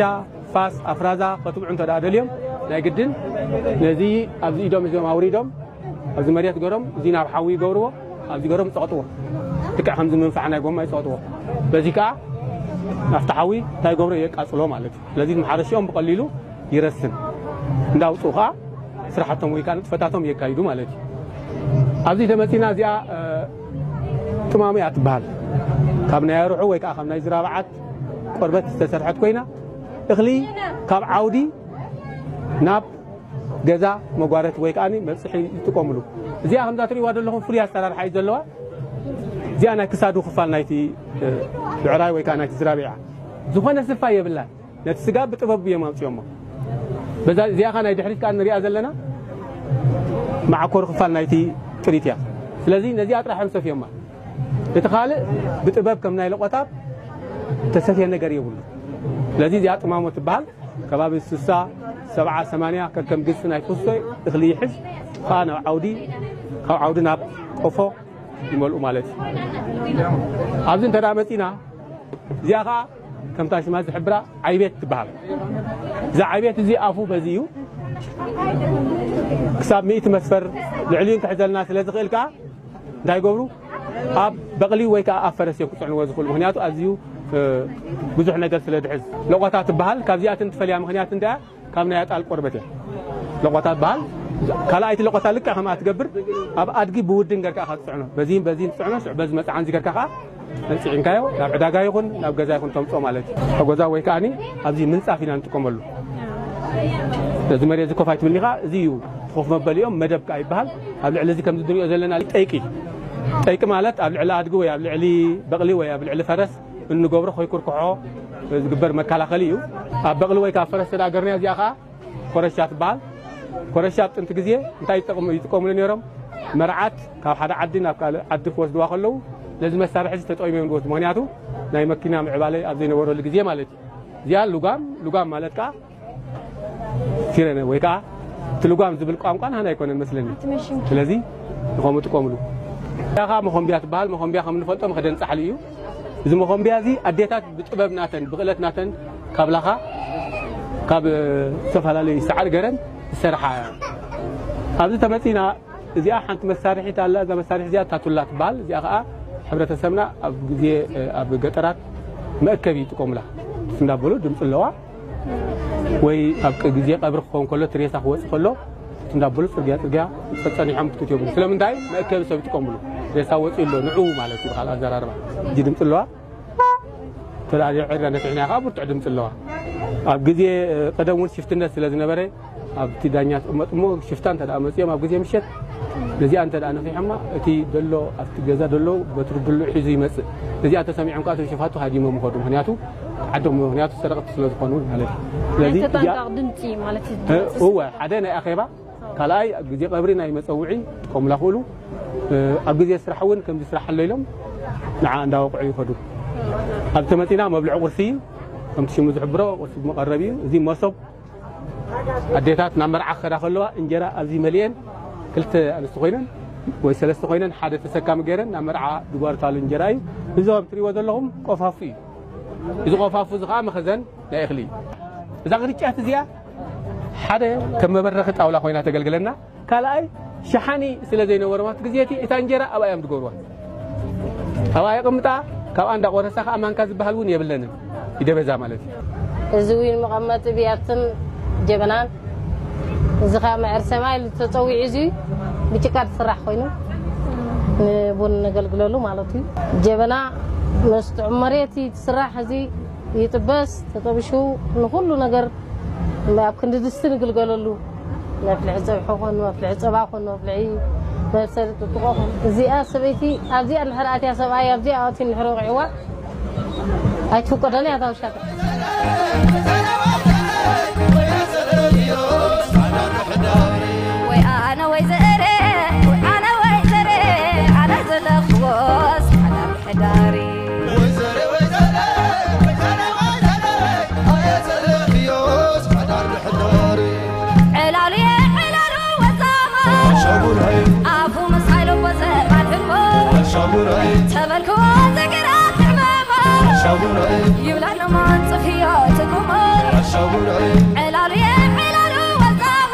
ፋስ ኣፍራዛ ከትብዑ እንተ ደኣ ደልዮም ናይ ግድን ነዚ ኣብዚ ኢዶም እዚኦም ኣውሪዶም ኣብዚ መሬት ገሮም እዚ ናብ ሓዊ ይገብርዎ። ኣብዚ ገሮም ይፀቕጥዎ። ልክዕ ከምዚ መንፋዕ ናይ ጎማ ይፀቕጥዎ። በዚ ከዓ ናብቲ ሓዊ እንታይ ይገብሮ የቃፅሎ ማለት እዩ። ስለዚ መሓረሽኦም ብቐሊሉ ይረስን እንዳውፅኡ ከዓ ስራሕቶም ወይ ከዓ ንጥፈታቶም የካይዱ ማለት እዩ። ኣብዚ ተመፂና እዚኣ ጥማሙ እያ ትበሃል። ካብ ናይ ኣርሑ ወይ ከዓ ካብ ናይ ዝራብዓት ቆርበት ዝተሰርሐት ኮይና እኽሊ ካብ ዓውዲ ናብ ገዛ መጓረት ወይ ከዓ መብፅሒ ይጥቀምሉ። እዚኣ ከምዛ ትሪእዋ ዘለኹም ፍሉይ ኣሰራርሓ እዩ ዘለዋ። እዚኣ ናይ ክሳዱ ክፋል ናይቲ ብዕራይ ወይ ከዓ ናይቲ ዝራቢዓ ዝኾነ ስፋ የብላን። ነቲ ስጋ ብጥበብ እዮም ኣምፅኦሞ። በዛ እዚኣ ከዓ ናይ ድሕሪት ከዓ ንሪኣ ዘለና መዓኮሪ ክፋል ናይቲ ጥሪት እያ። ስለዚ ነዚኣ ጥራሕ እዮም ሰፍዮማ። እቲ ካልእ ብጥበብ ከም ናይ ለቆታብ ተሰፍየ ነገር የብሉ። ስለዚ እዚኣ ጥማሞ ትበሃል። ከባቢ ስሳ ሰብዓ ሰማንያ ከከም ግዝፊ ናይ ፍስቶይ እኽሊ ይሕዝ ከዓ ናብ ዓውዲ ካብ ዓውዲ ናብ ቆፎ ይመልኡ ማለት እዩ። ኣብዚ እንተ መፂና እዚኣ ከዓ ከምታ ሽማ ዝሕብራ ዓይቤት ትበሃል። እዚ ዓይቤት እዚ ኣፉ በዚ እዩ። ክሳብ ሚእቲ መስፈር ልዕሊኡ ክሕዘልና ስለ ዝኽእል ከዓ እንታይ ይገብሩ ኣብ በቕሊ ወይ ከዓ ኣብ ፈረስ እዮም ክፅዕንዎ ዝኽእሉ። ምክንያቱ ኣዝዩ ብዙሕ ነገር ስለ ድሕዝ ለቆታ ትበሃል። ካብዚኣትን ትፈልያ ምክንያት እንዳ ካብ ናይ ኣጣል ቆርበት እያ። ለቆታ ትበሃል። ካልኣይቲ ለቆታ ልክዕ ከምኣ ትገብር ኣብ ኣድጊ ብውድን ገርካ ኢኻ ትፅዕኖ። በዚህን በዚህን ትፅዕኖ። ሽዑ በዚ መፅዓን እዚ ገርካ ከዓ መፅዒንካዮ ናብ ዕዳጋ ይኹን ናብ ገዛ ይኹን ተምፅኦ ማለት እዩ። ሓጎዛ ወይ ከዓኒ ኣብዚ ምንፃፍ ኢና ንጥቀመሉ። እዚ መሬት እዚ ኮፍ ኣይትብልኒ ከዓ እዚ እዩ ኮፍ መበሊኦም መደብ ከዓ ይበሃል። ኣብ ልዕሊ እዚ ከምዚ ንሪኦ ዘለና ጠይቂ ጠይቂ ማለት ኣብ ልዕሊ ኣድጊ ወይ ኣብ ልዕሊ በቕሊ ወይ ኣብ ልዕሊ ፈረስ እንገብሮ ከይኩርኩሖ ዝግበር መከላኸሊ እዩ። ኣብ በቕሊ ወይ ካብ ፈረስ ተዳገርና እዚኣ ከዓ ኮረሻ ትበሃል። ኮረሻ ኣብ ጥንቲ ግዜ እንታይ ይጠቕሙ- ይጥቀሙሉ ነይሮም? መርዓት ካብ ሓደ ዓዲ ናብ ካልእ ዓዲ ክወስድዋ ከለዉ ነዚ መሳርሒ እዚ ተጠቂሞም ዝወስዱ። ምክንያቱ ናይ መኪና ምዕባለ ኣብ ዘይነበረሉ ግዜ ማለት እዩ። እዚኣ ልጓም፣ ልጓም ማለት ከዓ ሲረነ ወይ ከዓ እቲ ልጓም ዝብል ቋንቋ ናህና ኣይኮነን መስለኒ። ስለዚ ንኸምኡ ጥቀምሉ። እዚኣ ከዓ መኾምቢያ ትበሃል። መኾምቢያ ከም ንፈልጦ መኽደን ጻሕሊ እዩ። እዚ መኾምቢያ እዚ ኣዴታት ብጥበብ ናተን ብክእለት ናተን ካብ ላኻ ካብ ዝተፈላለዩ ሳዕሪ ገረን ዝሰርሓ እያ። ኣብዚ ተመፂና እዚኣ ሓንቲ መሳርሒት ኣላ። እዛ መሳርሒ እዚኣ ታቱላ ትበሃል። እዚኣ ከዓ ሕብረተሰብና ኣብ ግዜ ኣብ ገጠራት መእከቢ ይጥቀሙላ። እንዳበሉ ድምፂ ኣለዋ። ወይ ኣብ ቅ- ግዜ ቀብሪ ክኸውን ከሎ እቲ ሬሳ ክወፅእ ከሎ እንዳበሉ ፅርግያ ፅርግያ ፀፀኒሖም ክትት የብሉ። ስለምንታይ መእከቢ ሰብ ይጥቀምሉ። ሬሳ ወፂኡ ኣሎ ንዑ ማለት እዩ። ብካል ኣዘራርባ እጂ ድምፂ ኣለዋ። ተዳልዮ ዕርዳ ነፊሕና ከዓ ብርቱዕ ድምፂ ኣለዋ። ኣብ ግዜ ቀደም እውን ሽፍትነት ስለ ዝነበረ ኣብቲ ዳኛ ትቕመጥ እሞ ሽፍታ እንተ ደኣ መፅኦም ኣብ ግዜ ምሸት ነዚኣ እንተ ደኣ ነፊሖማ እቲ ደሎ ኣብቲ ገዛ ደሎ በትሪ ድሉ ሒዙ ይመፅእ። ነዚኣ ተሰሚዖም ከዓ እቶም ሽፋቱ ሃዲሞም ይኸዱ። ምክንያቱ ዓዶም ምክንያቱ ሰረቕቲ ስለ ዝኾኑ ማለት እዩ። ስለዚ ናይ ተጠንቀቕ ድምፂ ማለት እዩ። እወ ሓደ ናይ ኣኼባ ካልኣይ ኣብ ግዜ ቀብሪ ናይ መፀውዒ ክጥቀሙላ ክእሉ። ኣብ ግዜ ስራሕ እውን ከምዚ ስራሕ ኣሎ ኢሎም ንዓ እንዳወቕዑ ይኸዱ። ኣብ ተመፂና መብልዒ ቁርሲ ከምቲ ሽሙ ዝሕብሮ ቁርሲ መቐረቢ እዩ። እዚ መሶብ ኣዴታት ናብ መርዓ ክኸዳ ከለዋ እንጀራ ኣብዚ መሊኤን ክልተ ኣንስቲ ኮይነን ወይ ሰለስተ ኮይነን ሓደ ተሰካሚ ገይረን ናብ መርዓ ዝጓርታሉ እንጀራ እዩ። እዚ ከም ትሪእዎ ዘለኹም ቆፋፉ እዩ። እዚ ቆፋፉ እዚ ከዓ መኸዘን ናይ እኽሊ እዩ። እዛ ቅርጫት እዚኣ ሓደ ከም መበረኺ ጣውላ ኮይና ተገልግለና። ካልኣይ ሸሓኒ ስለ ዘይነበሮም ኣብቲ ግዜ እቲ እታ እንጀራ ኣብኣ እዮም ዝገብርዋ። ኣብኣ የቐምጣ። ካብኣ እንዳቆረሳ ከዓ ማንካ ዝበሃል እውን የብለንን። ይደበዛ ማለት እዩ። እዚ እውን መቐመጢ ብያትን ጀበናን እዚ ከዓ መዕር ሰማይ ተፀዊዑ እዚ ብጭቃ ዝስራሕ ኮይኑ ንቡን ነገልግለሉ ማለት እዩ። ጀበና መስጥዑ መሬት ትስራሕ እዚ ይጥበስ ተጠብሹ ንኩሉ ነገር ኣብ ክንዲ ድስቲ ንግልገለሉ። መፍልሒ ፀብሒ ኮን መፍልሒ ፀባ ኮን መፍልሒ መብሰሊ ጥጥቆ ኮን እዚኣ ሰበይቲ ኣብዚኣ እንድሕር ኣትያ ሰብኣይ ኣብዚኣ ኣትዩ እንድሕር ወቂዕዋ ኣይትፍቀዶን እያ እታ ውሻ። ወይ ኣነ ወይ ዘእረ ኣነ ወይ ዘረ ኣነ ዘለኽዎስ ሓዳር ሕዳሪ ዕላሉ የዕላሉ ወዛማ ኣፉ ምስ ሃይሎ ወዘባን ህልሞ ተበልክዎ ዘገራት ሕመማ ይብላን ማንጽፍዮ ትጉሞ ዕላሉ የዕላሉ ወዛማ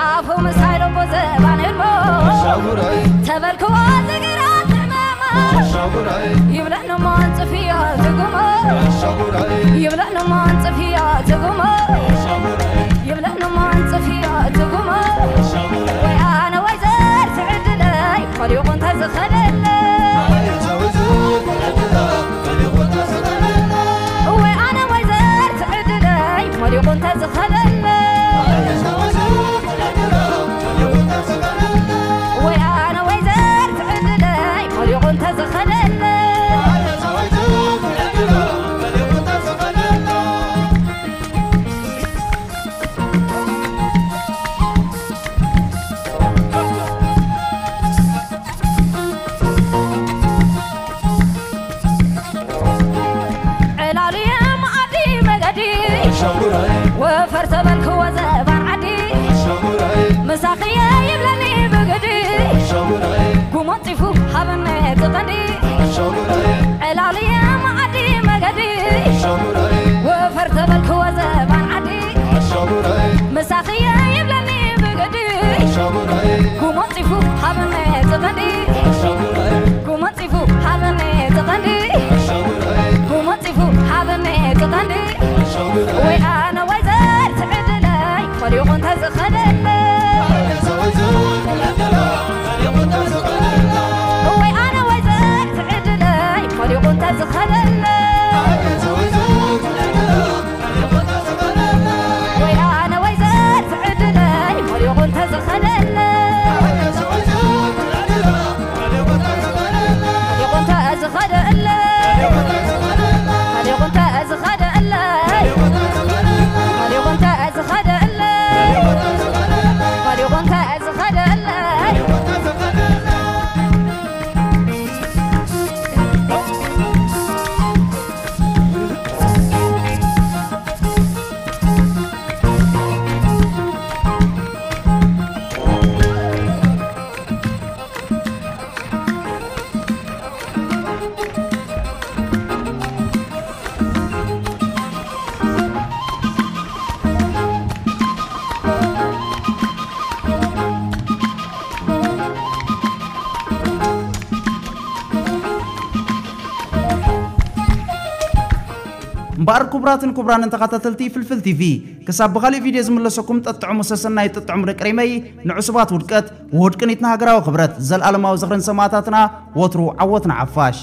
ኣፉ ምስ ሃይሎ ወዘባን ህልሞ ተበልክዎ ዘገራት ሕመማ ይብላን ማንጽፍዮ ትጉሞ ይብላን ማንጽፍዮ ትጉሞ ይብላን ማንጽፍዮ ትጉሞ ወይ ኣነ ወይ ዘር ትዕድለይ ኸሊቑ እንተዝኸደለይ ወይ ኣነ ወይ ዘር ትዕድለይ ኸሊቑ እንተዝኸደለይ ወይ ኣነ ወይ ዘር ትዕድለይ ኸሊቑ እንተዝኸደለይ ዕላሉ የማኣዲ መገዲ ወፈር ተበልክዎ ዘባን ዓዲ ምሳኽየ ይብለኒ ብግዲ ጉሞንፂፉ ሃበኒ እቲ ቀንዲ ዕላሉ የማኣዲ መገዲ ወፈር ተበልክዎ ዘባን ዓዲ ምሳኽየ ይብለኒ ብግዲ ጉሞንፂፉ ሃበኒ እቲ ቀንዲ ጉሞንፂፉ ሃበኒ እቲ ቀንዲ ጉሞንፂፉ ሃበኒ እቲ ቀንዲ ወይ ኣነ ወይ ዘር ትዕድለይ ኸሊቑ እንተዝኸደለይ ወይ ኣነ ወይ ዘር እምበኣር ክቡራትን ክቡራንን ተኸታተልቲ ፍልፍል ቲቪ፣ ክሳብ ብኻሊእ ቪድዮ ዝምለሰኩም ጠጥዕሙ ሰሰናይ፣ ጠጥዕሙ ደቂ ሪመይ። ንዕሱባት ውድቀት፣ ውሁድ ቅኒትና ሃገራዊ ክብረት፣ ዘልኣለማዊ ዝኽርን ሰማእታትና። ወትሩ ዓወት ንሓፋሽ።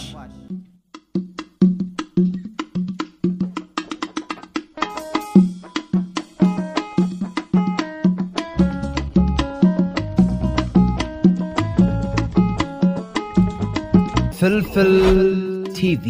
ፍልፍል ቲቪ።